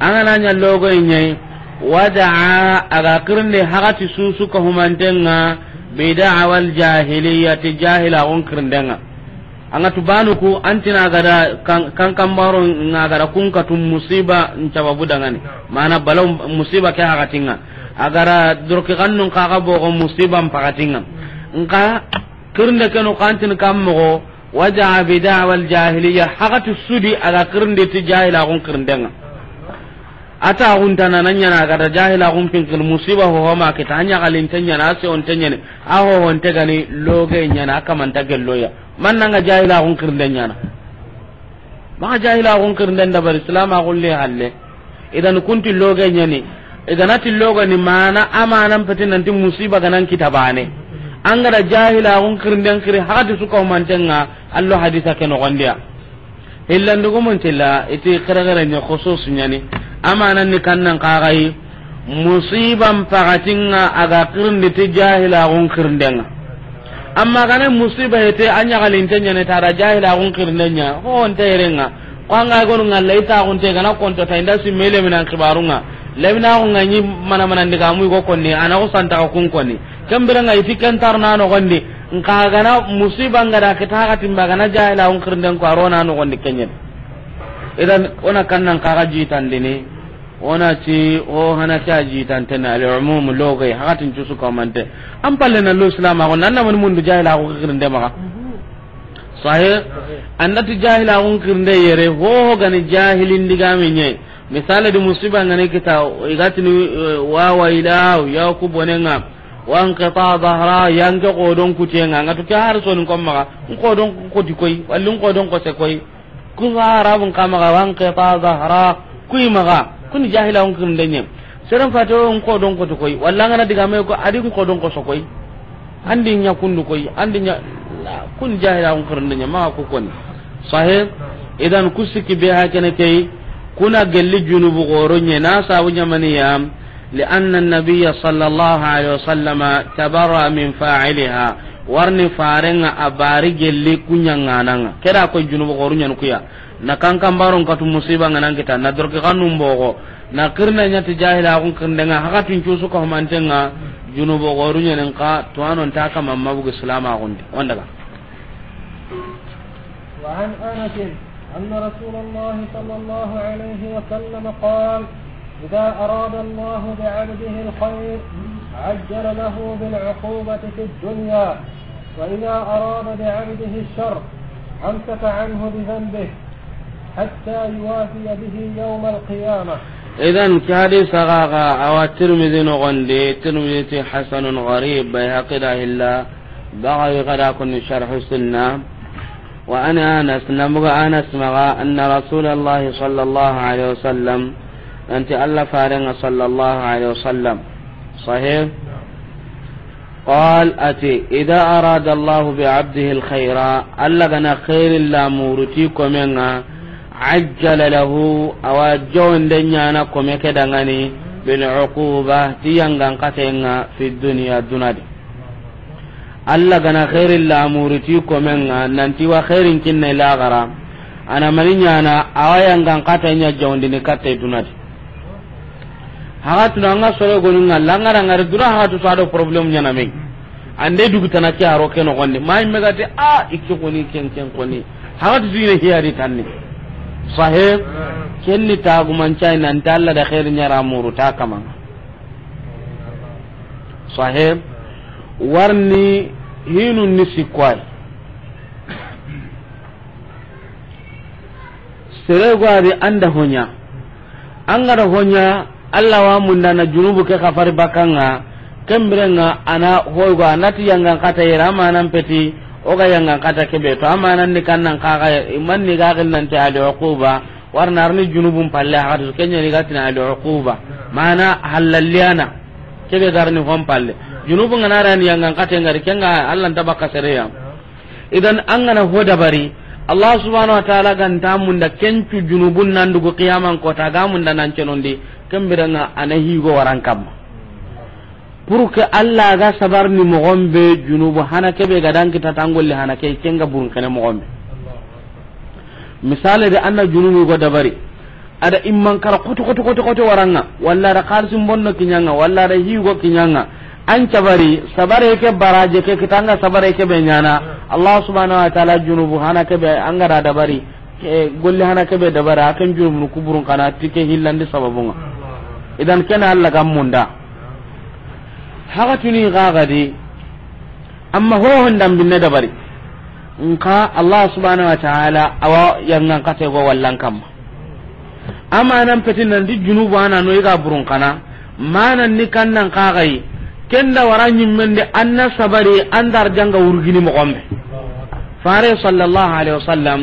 An ga na ɲa logo ɲai, wada'a, a ga kirindi hagati susu ka humantenga, bi da'wa al-jahiliyyati, jahilaxun kirindenga. An ga tu banu ku, an ti na ga da kan, kan kambaro nga ga da kun katu musiba n sababu dangani. Mana balaw musiba ke hagatinga. A ga da doroki kannun kaga boxo musiba n pagatinga. Nka kirinde kenu kantin kam moxo, waja'a bi da'wa al-jahiliyya, hagati sudi a ga kirinde ti jahilaxun kirindenga. A ta gunta na nan ɲana ga da jahilaxun pinkil musiba ho ho ma kita, a ɲaxalinte ɲana, a sewonte ɲani, a ho honte gani loge ɲana, a kamanta gelloya. Man nanga jahilaxun kirinde ɲana. Maxa jahilaxun kirinden dabari, silamaxun le halle. Idan kunti loge ɲani. I ga na ti loge ni mana, a manan peti nanti musiba ga nan kita bane. An ga da jahilaxun kirinden kiri, hagati su ka humantenga, allo hadisa ke noxondiya. Hillandugumun tilla, i ti xerexere ɲa khusus ɲani. A manan ni kannan kaga yi, musiban pagatinga a ga kirindi ti jahilaxun kirindenga. Amma ga na musiba hete, a ɲaxalinte ɲani ta da jahilaxun kirinden ɲa, ho nte yerenga. Ko an ga gonu ŋalla i ta gunte ga na konto ta inda si mele minan kibarunga. Lemina ko ŋa ɲi mana mana ndiga mu i go konni, a na ko santa ka kun konni. Kembere ŋa i ti ken tar na noxondi, nka ga na musiba nga da kita hagati mba ga na jahilaxun kirinden ko a ro na noxondi kenyen. Idan, o na kannan kaga jitandini, o na ti, o hana ke a jitantene, al-umum, loge, hagatin cusu kamante. An palle na lo silamaxu, nan na mani mundu jahilaxu kirinde maxa. Sahih? An da ti jahilaxun kirinde yere, ho ho ga ni jahilin digame ɲe. Misale di musiba nga ni kita, i ga tini, eh, wa wayla, ya ku bonenga, wa inqita zahra, yanke xodon kutenga, nga tu ke har sonin ko maxa, n xodon koti koy, walla n xodon kose koy. Ku Arabun kama ga, wa inqita zahra, kuy maxa, kuni jahilaxun kirinde ɲe. Seren fate o n xodon koti koy, walla nga na digame ko, a di n xodon koso koy. An di ɲa kundu koy, an di ɲa, la, kun jahilaxun kirinde ɲa, maxa ku koni. Sahih? Idan ku sikki be ha kene key, kuna gelli junubu xoro ɲe, na sabu ɲamaniya, لأن النبي صلى الله عليه وسلم تبرأ من فاعلها. Warni farenga a bari gelli kuɲangananga. Keda ko junubu xoru ɲan kuya. Na kankan baron katu musiba nga nan kita. Na dorki xannun boxo. Na kirna ɲati jahilaxun kirndenga. Hakatin cusu ka humantenga. Junubu xoru ɲanin ka. Tuwanon ta kama mabugu silamaxundi. Ondaga. وعن أنس أن رسول الله صلى الله عليه وسلم قال: إذا أراد الله بعبده الخير عجل له بالعقوبة في الدنيا، وإذا أراد بعبده الشر أمسك عنه بذنبه حتى يوافي به يوم القيامة. Idan ke hadisa ga ga awa Tirmidhi noxondi, Tirmidhi ti hasanun gharib, Bayhaqi da hilla, Bagawi ga da konni Sharh Sunna. Wa an Anas, na muga Anas maxa, anna Rasulallahi sallallahu alaihi wasallam, nanti Allah farenga sallallahu alaihi wasallam. Sahih? Qal ati, idha arada Allahu bi abdihi al-khayra, Allah gana khairin la muruti komenga, Ajjala lahu, a wa jonde ɲaana kome ke danŋa ni, bil uquba, ti yangan katenŋa, fi dunya, duna di. Alla ga na xeerin lamuru ti komen ŋa, nanti wa xeerin kinne laxara, a na mani ɲaana, a wa yangan kata ɲa jawundini katte duna di. Haxatunu an ga soro gonu ŋa, langara ngari dura haxatu sa do problème ɲaana me. An de dugu tana ke a ro ke noxon di. Ma yimme ga ti, a, i ke xoni, ken, ken xoni. Haxatu dina hiyari tanni. Sahe, ken ni tagumancay nanti Alla da xeeri ɲa ra muru ta kaman ŋa. Sahe, warni hinu ni sikko ay. Sere go a di an da ho ɲa. An ga da ho ɲa, Alla wa munda na junubu ke xafari bakkan ŋa, ken biren ŋa a na hoy go a na ti yangan kata yere, a ma nan peti, o ga yangan kata kebe, to a ma nan ni kannan kaxa, i man ni ga xil nanti al uquba, warna arni junubun palle, haxatu ke ɲa ni ga tini al uquba, mana halalliyana, kebe garni hon palle. Junubu nga na rani yangan kata ngari, ken ŋa Alla nta bakka sere ya. Idan an ga na ho dabari, Allah subhanahu wa ta'ala ga nta munda ken cu junubun nan dugu qiyaman kota ga munda nan cenondi, ken biren ŋa a na higo waran kamma. Pour que Alla ga sabar ni moxon be junubu hana kebe ga dan kita tangolli hana ke ken ga burun kene moxon be. Misale de an na junubu go dabari. A da imman kara koto, koto, koto, koto waran ŋa, walla a da xalisin bonno kiɲan ŋa, walla a da higo kiɲan ŋa. An cabari, sabare ke baraje ke kita an ga sabare kebe ɲaana. Allah subhanahu wa ta'ala junubu hana kebe an ga da dabari, ke golli hana kebe dabari, a ken junubunu kuburun kana ti ke hillandi sababun ŋa. Idan ken Alla ga munda. Haxatuni ga ga di, amma ho hon dambinne dabari. Nka Allah subhanahu wa ta'ala a wa yangan kate go wallan kamma. Amanan peti nanti junubu a na no i ga burun kana, manan ni kannan kaxayi, ken da wara ɲimmen de an na sabari an da arjanga wurgini moxon be. Fare sallallahu alaihi wasallam,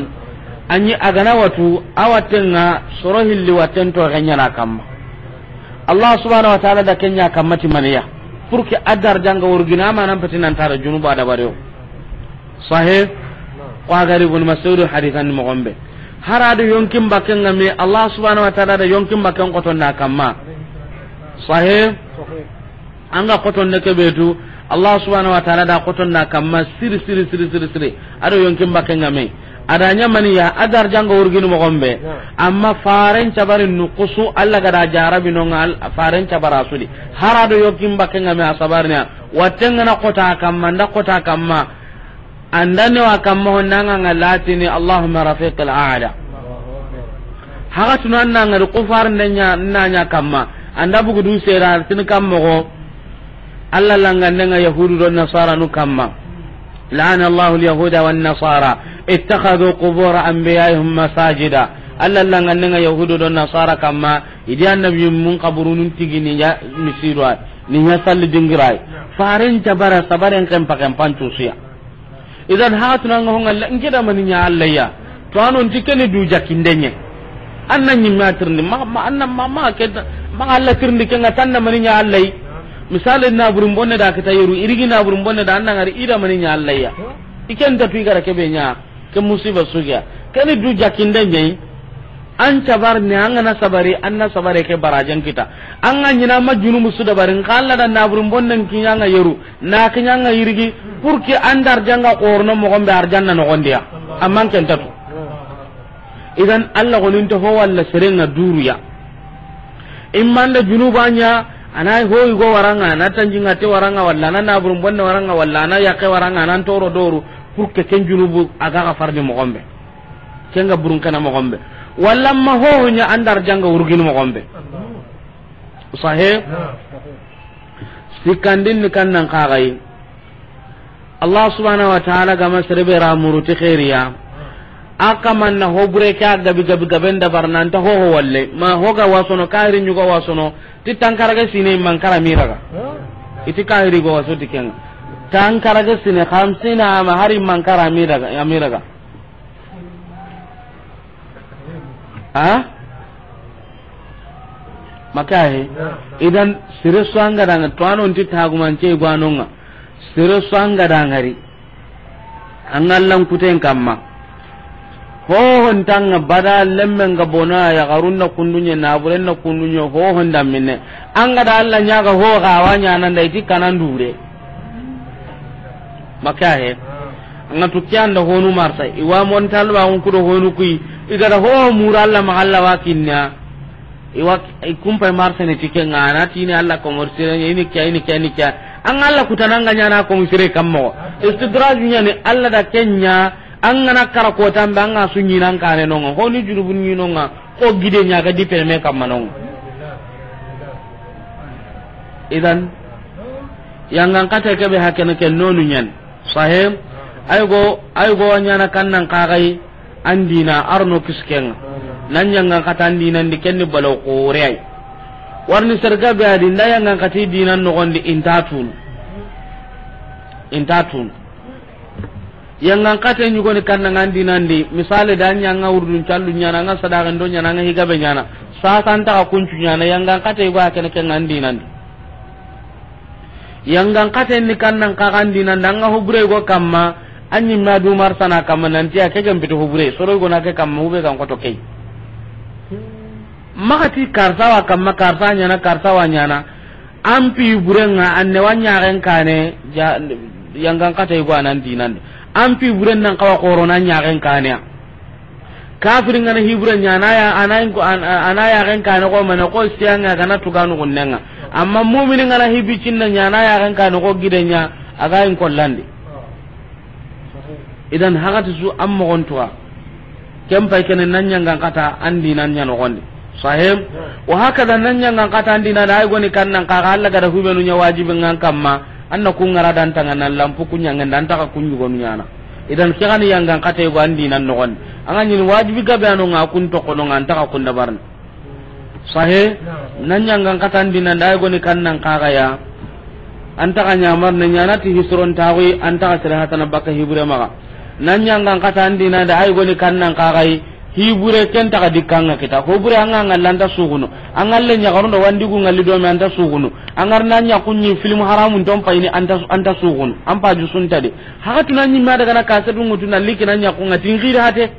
a ɲi a ga na watu, a watten ŋa soro hilli watten to xeɲana kamma. Allah subhanahu wa ta'ala da ken ɲa kamma ti maniya. Pour que a da arjanga wurgini, amanan peti nan ta da junubu a dabari o. Sahe, ko a ga ri Ibn Mas'ud hadisan moxon be. Hara do yonkin bakken ŋa me, Allah subhanahu wa ta'ala da yonkin bakken xoton da kamma. Sahe, an ga xoton ne kebe tu, Allah subhanahu wa ta'ala da xoton da kamma siri, siri, siri, siri, siri. A do yonkin bakken ŋa me. A da ɲa maniya, a da arjanga wurgini moxon be. Amma faren cabarin nukusu, Allah ga da jarabi no ŋa, faren cabara sudi. Hara do yonkin bakken ŋa me a sabarina. Watten ŋa na xota kamma, nda xota kamma. An da ne wa kamma hon da ŋa latini, Allahumma rafiqil a'la. Haxatunu an na ŋari kufar nda ɲa, na ɲa kamma. An da bugu du sera tin kamma go. Allah langande ŋa Yahudu do Nasara nu kamma. La'ana Allahu al-yahuda wan nasara ittakhadhu qubur anbiya'ihim masajida. Allah langande ŋa Yahudu do Nasara kamma. I di annabi mun kaburunun tigini ya misidu ay. Ni ɲa salli dingira ay. Faren cabara sabaren kempa kempan cusiya. Idan haxatunu an ga ho ŋa la, nke da mani ɲa Allah ya. To a no nti keni du jakinde ɲa. An na ɲimme a tirindi, ma, ma, an na, ma, ma, ke da, ma Allah tirindi ken ŋa tan da mani ɲa Allah yi. Misale naburun bonne da kita yeru, irigi naburun bonne da an na ŋari i da mani ɲa Allah ya. I ken ta tu i ga ra kebe ɲa, ke musiba sugiya. Keni du jakinde ɲa yi. An cabar ni an ga na sabari, an na sabare ke barajen kita. An ga ɲina ma junubu su dabari, nka Allah da naburun bonnen kiɲa ŋa yeru, na kiɲa ŋa yirigi, pour que an da arjanga xorono moxon be arjanna noxon di ya. Amman ken ta tu. Idan Allah gonin to ho walla seren ŋa duru ya. Imman da junuba ɲa, a na ho i go waran ŋa, a na tanjinga te waran ŋa, walla a na naburun bonne waran ŋa, walla a na yaqe waran ŋa, a na toro doru, pour que ken junubu a ga xafari moxon be. Ken ga burun kana moxon be. Walla ma ho ɲa an da arjanga wurgini moxon be. Sahe? Sikandin ni kannan kaxayi. Allah subhanahu wa ta'ala ga ma sere be ra muru ti xeeriya. A kaman na ho bure ke a gabi gabi gaben dabar nan ta ho ho walle. Ma ho ga wasono, kahiri ɲugo wasono. Ti tankarage sine mankara miraga. I ti kahiri go waso ti ken ŋa. Tankarage sine khamsina ama hari mankara miraga, ya miraga. Ha? Maka he. Idan sere su an ga da ŋa to a no nti tagumance gwanon ŋa. Sere su an ga da ŋari. An ga lan kuten kamma. Hohon tanga bada lemmen ga bona ya garun na kundunye na buren na kundunye hohon da minne. An ga da Allah ɲa ga ho ga wa ɲa nan da i ti kanan dure. Maka he. An ga tu kiyan da honu marsa. I wa mon talba on kudo honu kui. I ga da ho mura Allah ma Allah wa kinna. I wa i kumpa marsa ne tike ngana tini Allah ko mor sire ini kya ini kya ini kya. An Allah kutana nga ɲa na ko musire kammo. Istidraj ɲa ni Allah da kenya. An ga na kara kotambe an ga su ɲinan kane nonga, honi junubun ɲinonga, ko gide ɲa ga di peme kamma nonga. Idan, yangan kate kebe hakene ke nonu ɲan. Sahem, ay go, ay go ɲana kannan kagai, an dina arno kiskenga. Nan yangan kata an dinan di kenni balo kore ay. Warni serga be adi, nda yangan kati dinan nogondi intatun. Intatun. Yangan kate ɲugoni kannan an dinan di, misali da ɲa nga urdun callu ɲana, nga sadaxen do ɲana, nga higabe ɲana, sasa an taxa kuncu ɲana, yangan kate yugo a kene ken an dinan di. Yangan kate ni kannan kaga an dinan di, an ga hubure yugo kamma, an ɲimme a du marsana kamma, nanti a ke gen piti hubure, soro yugo na ke kamma, hube gan koto key. Maxa ti karsa wa kamma, karsa ɲana, karsa wa ɲana. An pi burenga, an ne wa ɲaxen kane, ja, yangan kata yugo anan dinandi. An pi buren nan kawa xoro na ɲaxen kane ya. Kafiri ngana hibure ɲana ya, ana in ko, an, ana yaxen kane ko mane ko siyanga gana tuganu gunnenga. Amma mu'mini ngana hibi cinna ɲana yaxen kane ko gidenya, aga in kollandi. Idan hagati su an mogon tuwa. Ken pay kene nan ɲangan kata an dinan ɲa nogondi. Sahem. Wa hakada nan ɲangan kata an dinan da ay goni kannan kaga Allah gada hubenu ɲa wajibi ngan kamma. An na kun ngara dan tanga nan lampu kun ɲangen dan taga kun ɲugonu ɲana. Idan ke gani yangan kata yugo an dinan nogondi. An ga ɲini wajibi gabe ano nga kun tokono nga an taga kun dabarni. Sahe, nan ɲangan kata an dinan da ay goni kannan kaga ya. An taga ɲamar ne ɲana ti hisron tawi, an taga sere hatana baka hibure maga. Nan ɲangan kata an dinan da ay goni kannan kaga yi, hibure ken taga dikkanga kita. Hobure anga ngalla anta sugunu. Angalle ɲagarundo wandigu ngalli domi anta sugunu. Angar na ɲakunɲi film haramun ton payini anta, anta sugunu. An paju suntadi. Haka tuna ɲimma daga na kasetu ngutu na liki na ɲakunga tingiri hate.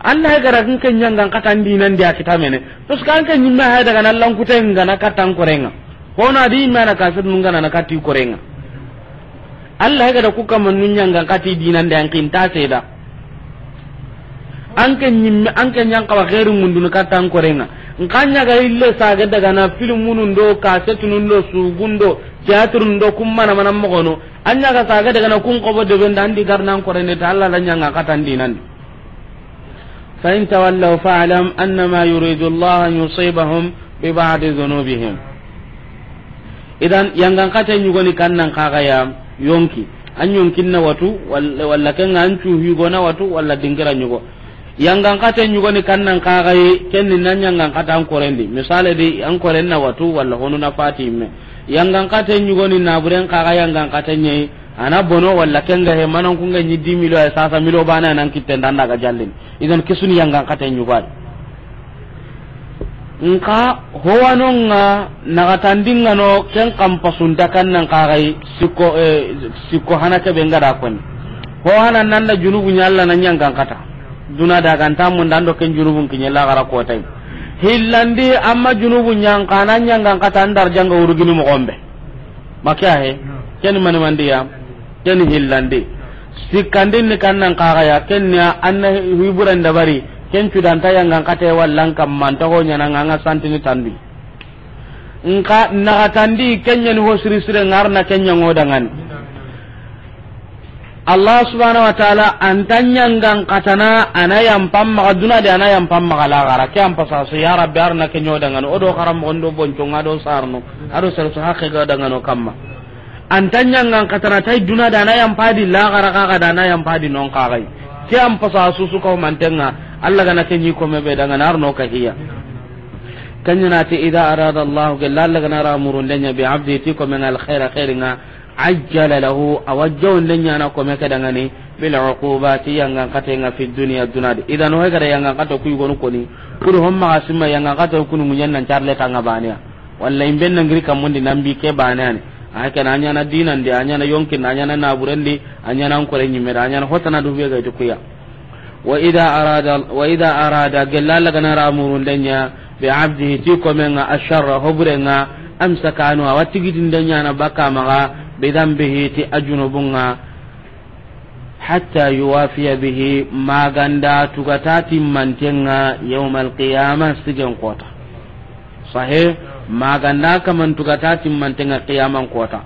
Allah ya gara kin ken ɲangan kata an dinan di a kita mene. Parce que an ke ɲimme hay daga na lankute ngana kata an korenga. Hono adi ɲimme na kaset nunga na kati korenga. Allah ya gara ku kamma nun ɲangan kati dinan di an kinta seda. An ke ɲimme, an ke ɲan kawa khairu mundunu kata an korenga. Nkanya ga ille saga daga na filmunun do, kasetunun do, sugundo, teatrun do, kummana mana mogono. Anya ga saga daga na kun kobo de benda an di garnan korene ta Allah la ɲangan kata an dinan di. فإن تولوا فاعلم أنما يريد الله أن يصيبهم ببعض ذنوبهم. Idan, yangan kate ɲugoni kannan kaga ya yonki. An yonkin na watu, walla, walla kenga an cu higo na watu, walla dingira ɲugo. Yangan kate ɲugoni kannan kaga yi, kenni nan yangan kata an korendi. Misale di, an koren na watu, walla honu na fati me. Yangan kate ɲugoni na buren kaga yangan kate ɲeyi. Ana bono walla kenga he manan kunga ɲi di milo ay sasa milo bana nan kitten danda ga jallin. Idan kisuni yangan kate ɲugadi. Nka howanonga nagatandinga no ken kampasunta kannan kagai sikko, eh, sikko hana ke benga da koni. Ho hana nanda junubu ɲalla na ɲangan kata. Duna da ganta mun dando ken junubun kiɲe la gara kotai. Hillandi amma junubu ɲanka na ɲangan kata andar janga urugini mo gombe. Maka he, ken mani mandiya, ken hillandi. Sikkandin ni kannan kaga ya, ken ya anna hiburan dabari, ken cudanta yangan kate wallan kamman ta ho ɲana nga santini tandi. Nka nagatandi ken ɲani ho siri sire ngarna ken ɲango dangani. Allah subhanahu wa ta'ala anta ɲangan katana ana yampam maga duna de ana yampam maga lagara ke ampa sasu ya rabbi arna ke ɲodangano odo karam mondo bonco nga do sarno ado sarso hakke ga dangano kamma anta ɲangan katana tay duna de ana yampadi lagara kaga de ana yampadi non kagai ke ampa sasu su ko mantenga Allah gana ke ɲi ko mebe dangana arno ka hiya kanyana ti idha arada Allah gella Allah gana ramurun denya bi abdi ti ko men al khaira khairinga ajjala lahu, a wa jawonde ɲana kome ke dangani, bil uqubati, yangan katenga fi dunya dunadi. Idan, ho gada yangan kata kuy gonu koni, kudu homma ga simma yangan kata kunu munyan nan charle tanga baniya. Walla imben nan giri kamundi nan bi ke baniya ni. A ke na ɲana dinandi, a ɲana yonkin, a ɲana naburendi, a ɲana ankore ɲimeda, a ɲana hotana du be ga itukuya. Wa idha arada, wa idha arada, gella Alla ga na ra murunde ɲa, bi abdihi, ti komen ŋa, asharra, hoburen ŋa, amsaka anhu, a wa tigitinde ɲaana bakka maxa, bi dhanbihi, ti a junubun ŋa, hatta yuwafiya bihi, ma ga nda tuga ta timmanten ŋa, yawmal qiyama, sigen kota. Sahe, ma ga nda kaman tuga ta timmanten ŋa qiyaman kota.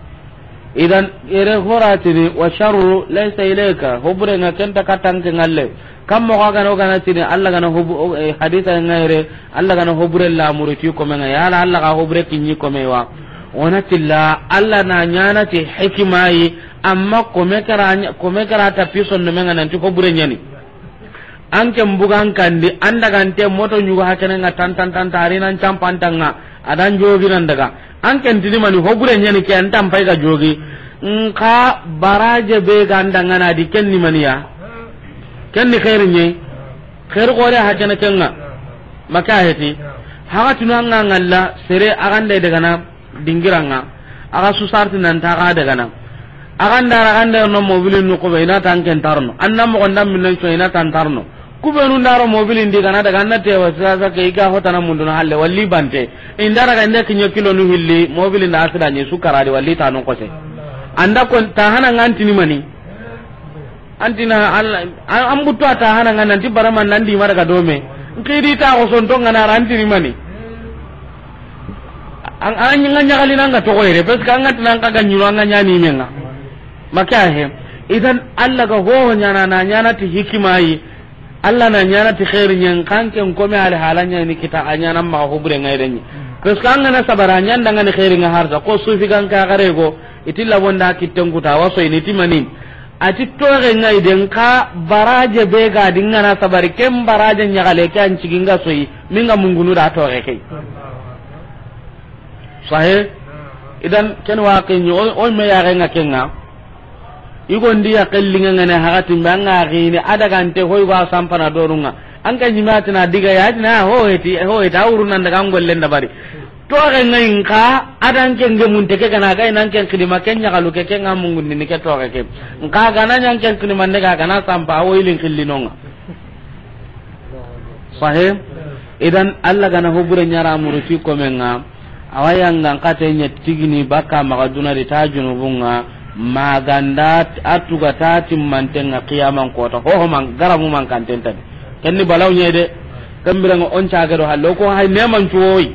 Idan, ere horatini, wa sharru laysa ilayka, hoburen ŋa ken nta katta an ke ŋa le. Kam moxo ga na o ga na tini, Alla ga na hobu-, o, eh, hadisa ŋa yere, Alla ga na hobure lamuru ti komen ŋa, yala Alla ga hobure kiɲi komen wa. O na ti la, Alla na ɲaana ti hikima yi, amma komen ke ra ɲa-, komen ke ra tapi sondomen ŋa nanti hobure ɲaani. An ke n bugan kandi, an daga nte moto ɲugo hakene ŋa tan tan tan tari nan campanta ŋa, a dan jogi nan daga. An ke n tini mani hobure ɲaani ke, an tampay ga jogi. Nka baraje be ga an da ŋa na di ken ni mani ya. Ken ni xeeri ɲe. Xeeri xore hakene ken ŋa. Maka heti. Haga tunu an ŋa ŋalla, sere a ga nde daga na dingira ŋa. A ga su sarti nan ta ga daga na. A ga nda ra, a ga nda no mobilin nu ko be, i na tan ken tarno. An na moxo nda min nan co, i na tan tarno. Ku be nu nda ro mobilin di ga na daga, an na te wa sasa ke i ga hotana mundu na halle, walli bante. I nda ra ga nde kiɲe kilo nu hilli, mobilin da asida ni su kara di, walli ta no kose. An da kon ta hana ŋa an tini mani. An tini Alla, an, an buttu a ta hana ŋa nanti barama nan di mara ga dome. N xidi ta ko sonto ŋa na ra an tini mani. An, an ŋa ɲagali nan ga toxo yere, parce que an ga tinan ka ga ɲuro an ga ɲaani men ŋa. Maka he. Idan Alla ga ho ɲaana, na ɲaana ti hikima yi. Alla na ɲaana ti xeeri ɲen, xa an ke n komen ali hala ɲaani kita, a ɲaana maxa hobure ŋa yere ɲi. Parce que an ga na sabara, a ɲaana da ŋa ni xeeri ŋa harsa, ko sufi gan ka gare go, i ti labonda kitten kuta, a wa so i ni ti mani. A ti toxe ŋa i den xa baraje be ga di ŋa na sabari, ken baraje ɲaxale ke an cigi ŋa so i, min ŋa mungunu da toxe ke. Sahe? Idan ken wa ke ɲi, o, o me ya ga ŋa ken ŋa. I go ndi ya kellinga ŋa ne hagatin be an ŋa gini, a daga nte hoy go a sampana doru ŋa. An ka ɲi ma tina diga ya tina ho heti, ho heti, a wuru nan daga an gollen dabari. Toxe ŋa i nka, a dan ke nge mun te ke ga na ga i nan ken kilima, ken ɲaxalu ke, ken ŋa mungundini ke toxe ke. Nka ga na ɲan ken kilima nde ga, ga na sampa, a wo ilin killinonga. Sahe? Idan, Alla ga na hobure ɲara muruti komen ŋa, a wa yangan kate ɲa tigini bakka maxa duna di ta junubun ŋa, ma ga nda a tuga ta timmanten ŋa qiyaman kota, hoho man, garamu man kanten tadi. Ken ni balaw ɲa de. Ken biren ŋa o n cage do halle, o ko hay neman cuwoyi.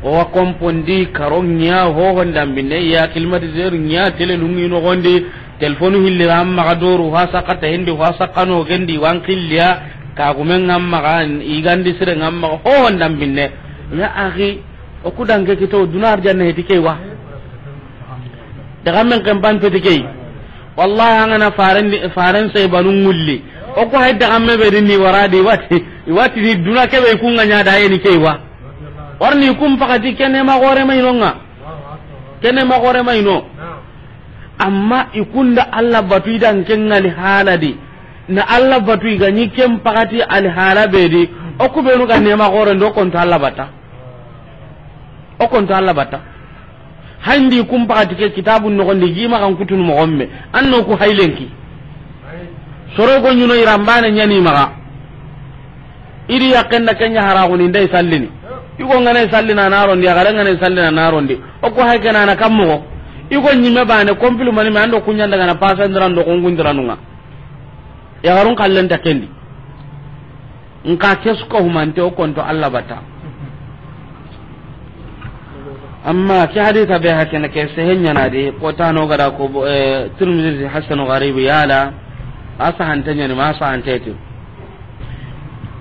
O wa kompondi karo ɲa, hoho ndambine ya, climatiseur ɲa, tele lungi noxondi, telefonu hilli ran maxa doru, ho a saxa ta hindi, ho a saxa no gendi, wan xilliya, kagumen ŋa maxa, igandi sire ŋa maxa, hoho ndambine. Ya axi, o ku danke kito, duna arjanna heti ke wa. Daga men ken ban peti ke. Wallahi, an ga na faren di, faren sai banu ŋulli. O ku hay daga me be di ni wara di wati, wati ni duna ke be ku ŋa ɲa da yeni ke wa. Warni kum pakati kene ma gore mai no ŋa. Kene ma gore mai no. Amma i kunda Alla batu i dan ken ŋa li hala di. Na Alla batu i ga ɲi ken pakati ali hala be di. O ku be nu ga nema gore ndo konto Alla bata. O konto Alla bata. Handi kum pakati ke kitabun noxondi, gi maxa n kutunu moxo me. An no ku haylenki. Soro go ɲuno i rambane ɲani maxa. Idi yakken da ken ɲa haraxuni nda i sallini. I go ŋa na i sallina na rondi, yaxare ŋa na i sallina na rondi. O ku hay ke na na kam moxo. I go ɲime bane, kompilu mani me, an do ku ɲa n daga na pasandiran do kungundiranun ŋa. Yaxarun kallen ta kendi. Nka ke su ko humante o konto Alla bata. Amma ke hadisa be hakene ke sehen ɲana di, ko tano ga da ko, eh, Tirmidhi hasanu gharibu yala, a sahante ɲani ma sahante ti.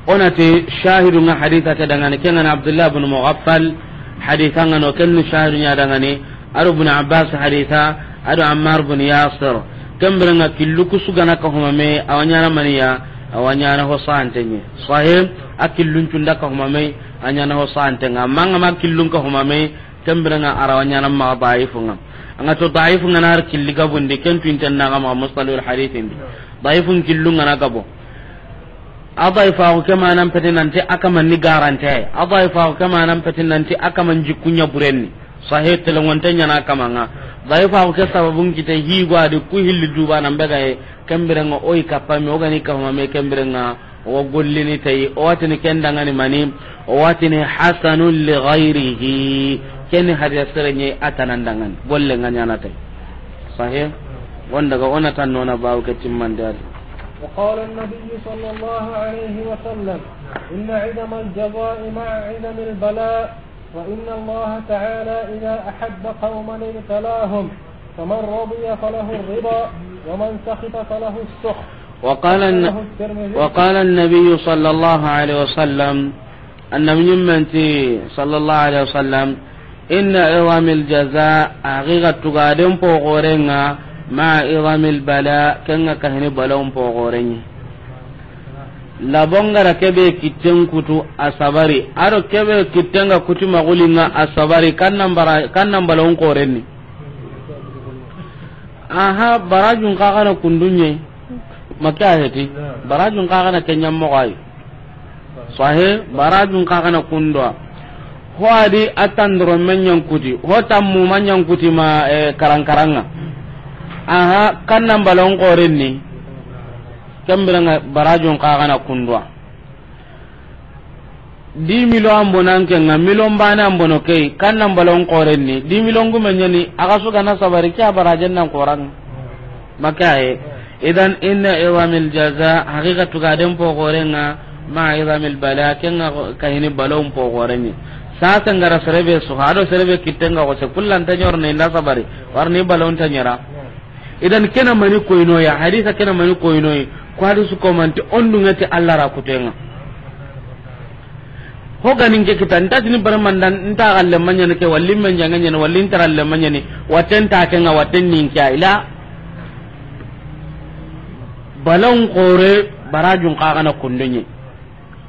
O na ti shahidu ŋa hadisa ke dangani, ken ŋa ni Abdullah bin Mughaffal hadisa ŋa no, ken ni shahidu ɲa dangani, a do Ibn Abbas hadisa, a do Ammar bin Yasir. Ken biren ŋa killu ku su ga na ka humame, a wa ɲana maniya, a wa ɲana ho sahante ɲi. Sahih, a killun cunda ka humame, a ɲana ho sahante ŋa. Manga ma killun ka humame, ken biren ŋa a ra wa ɲana ma daifu ŋa. An ga to daifu ŋa na har killi gabundi, ken tu inten na ga ma mustalahul hadith indi. Daifun killun ŋa na gabo. A daifaxu ke manan peti nanti a kaman ni garante. A daifaxu ke manan peti nanti a kaman jikku ɲa burenni. Sahe telengonte ɲana kaman ŋa. Daifaxu ke sababun kite higo a di ku hilli duba nan be ga ye. Ken biren ŋa o yi kappa me, o ga ni kappa me, ken biren ŋa o gollini tayi, o wa tini ken danŋa ni mani, o wa tini hasanun li ghayrihi. Ken ni hadiya sere ɲa a tana danŋa ni, golle ŋa ɲaana tayi. Sahih? Wonda ga o na tan nona bawo ke timmande adi. وقال النبي صلى الله عليه وسلم: إن عظم الجزاء مع عظم البلاء، وإن الله تعالى إذا أحب قوما ابتلاهم، فمن رضي فله الرضا، ومن سخط فله السخط. وقال الن-، أخرجه الترمذي. وقال النبي صلى الله عليه وسلم، Annabi ɲimmen ti, sallallahu alaihi wasallam, inna izamil jaza, haqiqa tugaden poxoren ŋa, ma izamil bala, ken ŋa kahini balawun poxoren ɲi. Labongara kebe kitten kutu a sabari, aro kebe kitten ga kuti maxulin ŋa a sabari, kannan bara, kannan balawun xoren ni. Aha, barajun xa gana kundunye. Maka heti. Barajun xa gana kenyan moxay. Sahe, barajun xa gana kundwa. Ho adi atandro menyan kuti, ho tammu manyan kuti ma, eh, karankaranga. Aha, kannan balon xoren ni. Kembiranga barajun xa gana kundwa. Dix millions an bono an ke ŋa, million baane an bono ke yi, kannan balon xoren ni, dix millions gume ɲa ni, a ga su gana sabari, ke a barajen nan xoran. Maka ye. Idan, inna izamil jaza, haqiqa tugaden poxoren ŋa, ma izamil bala, ken ŋa kahini balawun poxoren ni. Sasa ngara serebe su, hado serebe kitten ga xose, kullan ta ɲor ne nda sabari, warni balawun ta ɲera. Idan kena mani koyno ya, hadisa kena mani koyno yi, ko hadisu ko manti on dunŋa ti Allah ra kutenŋa. Ho ganin ke kita, nta tini bare mandan, nta galle manyani ke, walli men janga nyani, walli ntara le manyani, waten ta ke ŋa, waten nin ke ila. Balon xore, barajun xa gana kundunye.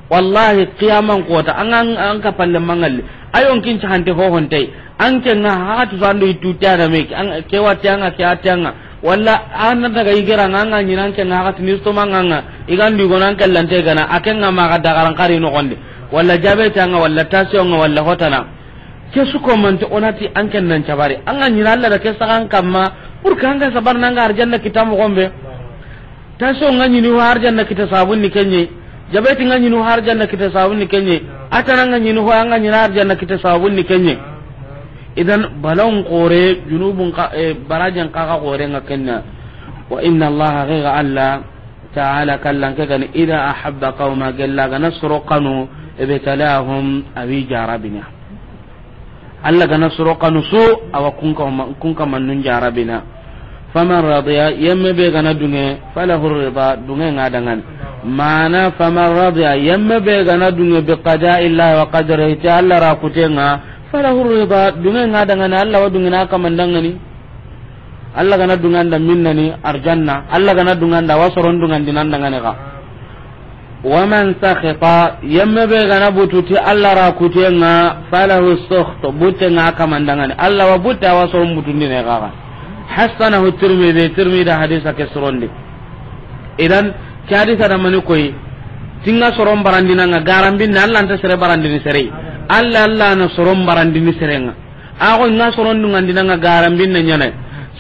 Wallahi, qiyaman kota, an, an, an ka palle mangalli. Ayon kin ci hante ho honte. An ke ŋa hatu sando itu tiana me, an ke wati anga, ke ati anga. Walla an daga igera ŋa, anga ɲina an ke ŋa hatu nisto manganga. Igandu gono an ke lante gana, a ke ŋa ma ga dagaran kari no gonde. Walla jabe tanga, walla tasio ŋa, walla hotana. Ke su ko mante onati an ke nan cabari. Anga ɲina Allah da ke sagan kamma, pour que anga sabar nanga arjanna kitamu gombe. Tension ŋa ɲini ho arjanna kita sabun ni kenye. Jabeti ŋa ɲini ho arjanna kita sabun ni kenye. Atana ŋa ɲini ho anga ɲini arjanna kita sabun ni kenye. Idan balon xore, junubun xa, eh, barajen xa ga xore ŋa kenna. Wa inna Allah, haqiqa Allah ta'ala, kallan ke gani, idha ahabba qawma, gella gana soro kanu, ibtalahum, awi jarabina. Allah gana soro kanu su, awa kunka ma-, kunka mannun jarabina. Faman radiya, yemme be gana dunge, falahu rida, dunge ŋa dangani. Mana faman radiya, yemme be gana dunge bi qada'i Allah wa qadrihi, ti Allah ra kutenŋa, falahu rida, dunge ŋa dangani, Allah wa dunge na kamandangani. Allah gana dunganda minnani arjanna, Allah gana dunganda wa soron dungandinan dangane ga. Wa man sakhita, yemme be gana bututi Allah ra kutenŋa, falahu sukht, buttenŋa kamandangani. Allah wa butte wa soron butundine ga ga. Hassanahu Tirmidhi, Tirmidhi hadisa ke surondi. Idan, ke hadisa da mani koyi, tinga soron barandinanga, garambinne Allah nta sere barandini sere. Allah, Allah na soron barandini serenga. Ago ŋa soron dungandinanga garambinne ɲane.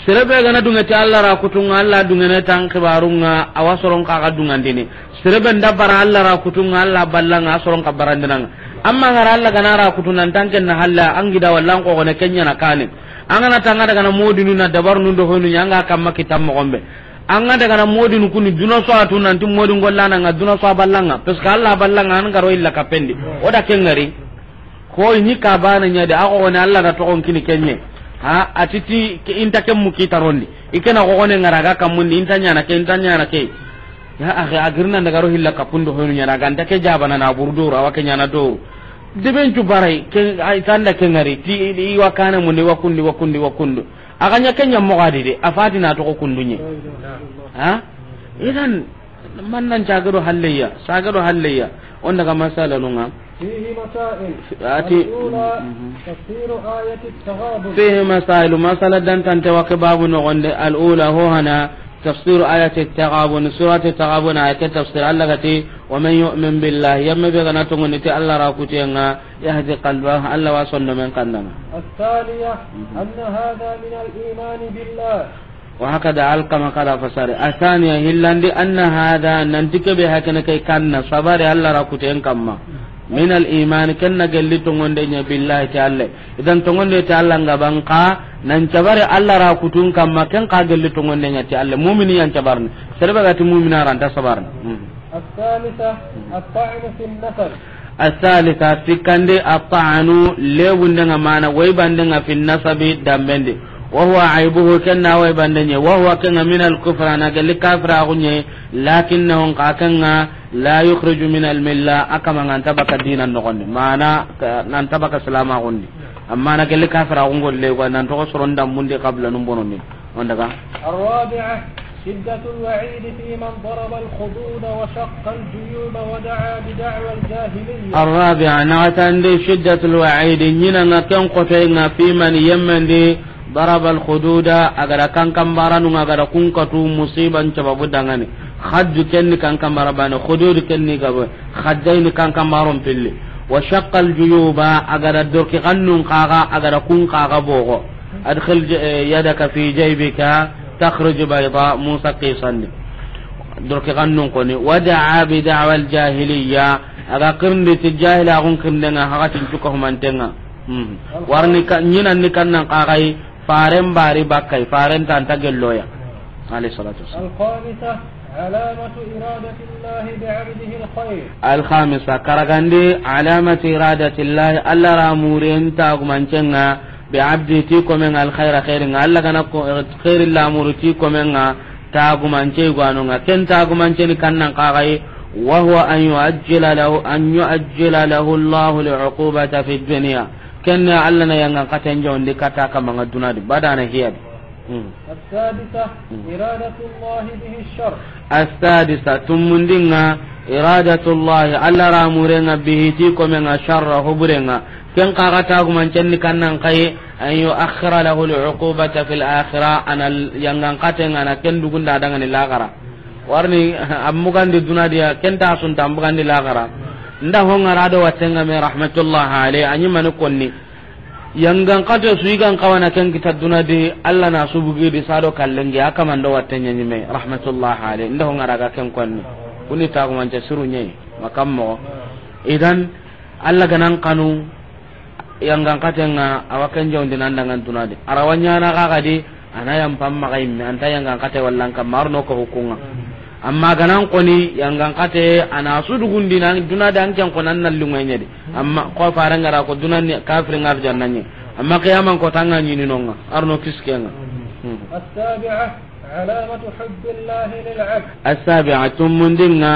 Serebe gana dungeti Allah ra kutunŋa, Allah dungene tan xibarunŋa, awa soron xa ga dungandini. Serebe nda bara Allah ra kutunŋa, Allah ballanga, a soron xa barandinanga. Amma gara Allah gana ra kutu nan tanken na halla, an gida wallan ko gone kenya na kane. An gana tanga daga na modinu na dabarnu do honu ɲanga kamma kitam mo gombe. An ga daga na modinu kuni duna so atu nan ti modin gollana nga duna so ballanga. Parce que Allah ballanga an garo illa kapendi. O da kengari. Ko ni ka bana ɲa de, a ko ne Allah da togon kini kenye. Ha, atiti ke inta ke mu ki tarondi. Ikena ko ne ngara ga kamundi, inta ɲana ke, inta ɲana ke. Ya akhi, a girna daga ro hilla kapundo honu ɲana ga nta ke jabana na burdo, awa ke ɲana do. Deben cu barai, ke, ay tanda ke ngari, ti, i, i wa kana mundi, wa kundi, wa kundi, wa kundu. A ga ɲa ke ɲa mo gadi de, a fati na togo kundunye. Ha? Idan, Man nan cagado halleya, sagado halleya. On daga masala nunga. فيه مسائل. Ati. الأولى، mhm. تفسير آية التغابن. Fihi masailu, masala dantante wa ke babu nogonde. Al ula, ho hana, tafsiru ayati Taghabun, surati Taghabun ayat tafsir. Allah gati, wa man yu'min billahi, yamma be gana tongoni ti Allah ra kutenga, yahdi qalbahu, Allah wa sondo men kandana. الثانية، mhm. أن هذا من الإيمان بالله. Wa hakada Alqama xa da fasari. Asaniya, hillandi, anna hada, nanti kebe hakene ke kanna, sabari Allah ra kuten kamma. Min al iman, ken na gelli tongonde ɲa billahi ti Allah. Idan tongonde ti Allah nga ban xa, nan sabari Allah ra kutun kamma, ken xa gelli tongonde ɲa ti Allah. Mumini yan sabarni. Serebe ga ti mumina ra nta sabarni. Hmm. Al-thalitha, at-ta'nu fi an-nasab. Al-thalitha, sikkandi, at-ta'nu, lebundenga mana, waybandenga fi an-nasabi, dambendi. Wa huwa aibuhu, kenna waybandenye, wa huwa kenga min al-kufr, ana gelli kafiraxunye, lakinnahu, nka kenga, la yukhriju min al-milla, a kama nga nta baka dina noxondi. Mana, ka, nan ta baka silamaxundi. Amma na gelli kafiraxungolle, wa nan toxo soron dambundi qabla num bonondi. On daga. الرابعة، شدة الوعيد في من ضرب الخدود وشق الجيوب ودعا بدعوى الجاهلية. الرابعة، naxatandi, شدة الوعيد, ɲinanga ken xotoyenga, fi man, yemmendi, ضرب الخدود, a ga da kankanbaranunga, a ga da kun katu musiban sababu dangani. Khaddu kenni kankanbara bane, khudud kenni gabo, khaddayni kankanbaron pilli. وشق الجيوب, a ga da dorki xannun xaxa, a ga da kun xaxa boxo. Adkhil j-, eh, yadaka fi jaybika takhruj bayda, Musa qisandi. Dorki xannun koni. Wada'a bi da'wal jahiliya. A ga kirindi ti jahilaxun kirindenga, hakatin cuka humantenga. Hmm. Warni ka, ɲinanni kannan xaxayi, faren bari bakkay, faren tanta gelloya. Alayhi salatu wassalam. الخامسة، علامة إرادة الله بعبده الخير. Alkhamisa, karagandi, alamati iradatillahi, Allah ra muren tagumancenga, bi abdi, ti komen alkhaira, khairinga, Allah gana ko, khairi lamuru ti komenga, tagumance gwanonga, ken tagumance ni kannan kagai, wa huwa an yuajjila lahu, an yuajjila lahu Allahu li uqubata fi dunya. Ken Allah na yangan katen jondi kata kamanga dunadi, badana hiyadi. Hmm. السادسة، Hmm. إرادة الله به الشر. السادسة، tumundinga, إرادة الله, Allah ra murenga, bihi, ti komenga, sharra, huburenga. Ken kaga tagumancenni kannan kai, أن يؤخر له العقوبة في الآخرة, ana yangan katenga na ken dugunda dangani lagara. Warni, amugandi dunadiya, ken ta sunta amugandi lagara. Nda hongara do watenga me rahmatullah alayhi, anyi mani konni. Yangan kate su i gan kawana ken kita duna di, Allah na su bugi di sado kallengi, a kamando watte ɲaɲime, rahmatullah alayhi. Nda ho ngara ga ken konni. Kuni tagumance suru ɲei, makam mo. Idan, Allah ganan kanu, yangan kate nga, awa ken jawndi nan dangan duna di. Arawa ɲana ga ga di, ana yan pam maga imme, anta yangan kate wallan kam, marno ko hukunga. Amma ganan koni, yangan kate, ana su dugundi nan, duna di an ken konan na lunga ɲedi. Amma ko faran gara ko dunan ni kafir ngar jannanye. Amma qiyaman ko tanga ɲini nonga. Arno kiskenga. Hmm. السابعة، علامة حب الله للعبد. السابعة، tumundinga,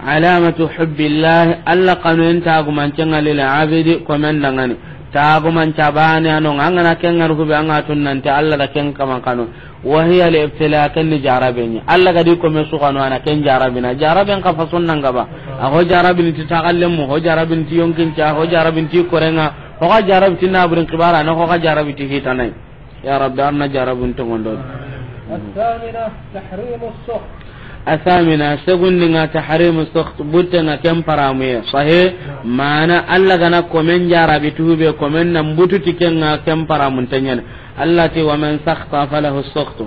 علامة حب الله, Allah kanu en tagumancenga, للعبد, komen dangani. Tagumanca bane anonga, angana kengar hube anga tunnante Allah da ken kaman kanu. وهي الابتلاء, ken ni jarabeni. Allah gadi kome su kanu ana ken jarabina. Jaraben ka fason nanga ba. A ho jarabini ti tagallen mu, ho jarabini ti yonkinca, ho jarabini ti korenga, ho ga jarabi ti naburin kibara, na ho ga jarabi ti hitanai. Ya Rabbi, arna jarabun tongondo. الثامنة، تحريم السخط. الثامنة، segundinga, تحريم السخط, buttenga ken paramuye. Sahe, mana Allah gana komen jarabi tube, komen nan butu ti kenga ken paramun tenyane. Allah ti, ومن سخط فله السخط.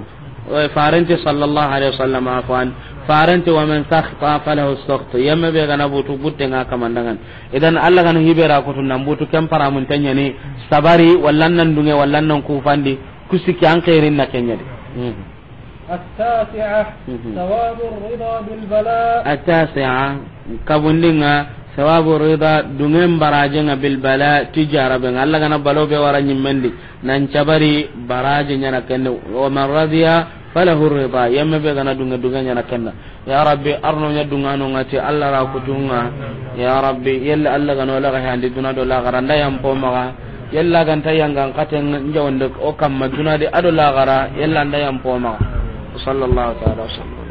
Farenti sallallahu alayhi wasallam, afwan. Farenti, ومن سخط فله السخط. Yemme be gana butu, buttenga kamandangan. Idan Allah gana hibera kutu nan butu ken paramun tenyani, sabari, wallan nan dunge, wallan nan kufandi, kusiki an khairin na kenyadi. Hmm. التاسعة، Mhm. ثواب الرضا بالبلاء. التاسعة, kabundinga, ثواب الرضا, dungen barajenga, بالبلاء, ti jarabenga. Allah gana balo be wara nyimmendi, nan cabari baraje nyana kende. ومن رضي فله الرضا. Yemme be gana dunge, dunge nyana kenda. Ya Rabbi, arno nya dungano ngati Allah ra kutunga. Ya Rabbi, yella Allah gano la ga handi duna do la garanda yam po maga. Yella ganta yangan katen njawande o kamma duna di ado lagara, yella nda yam poma. Sallallahu ta'ala wa sallam.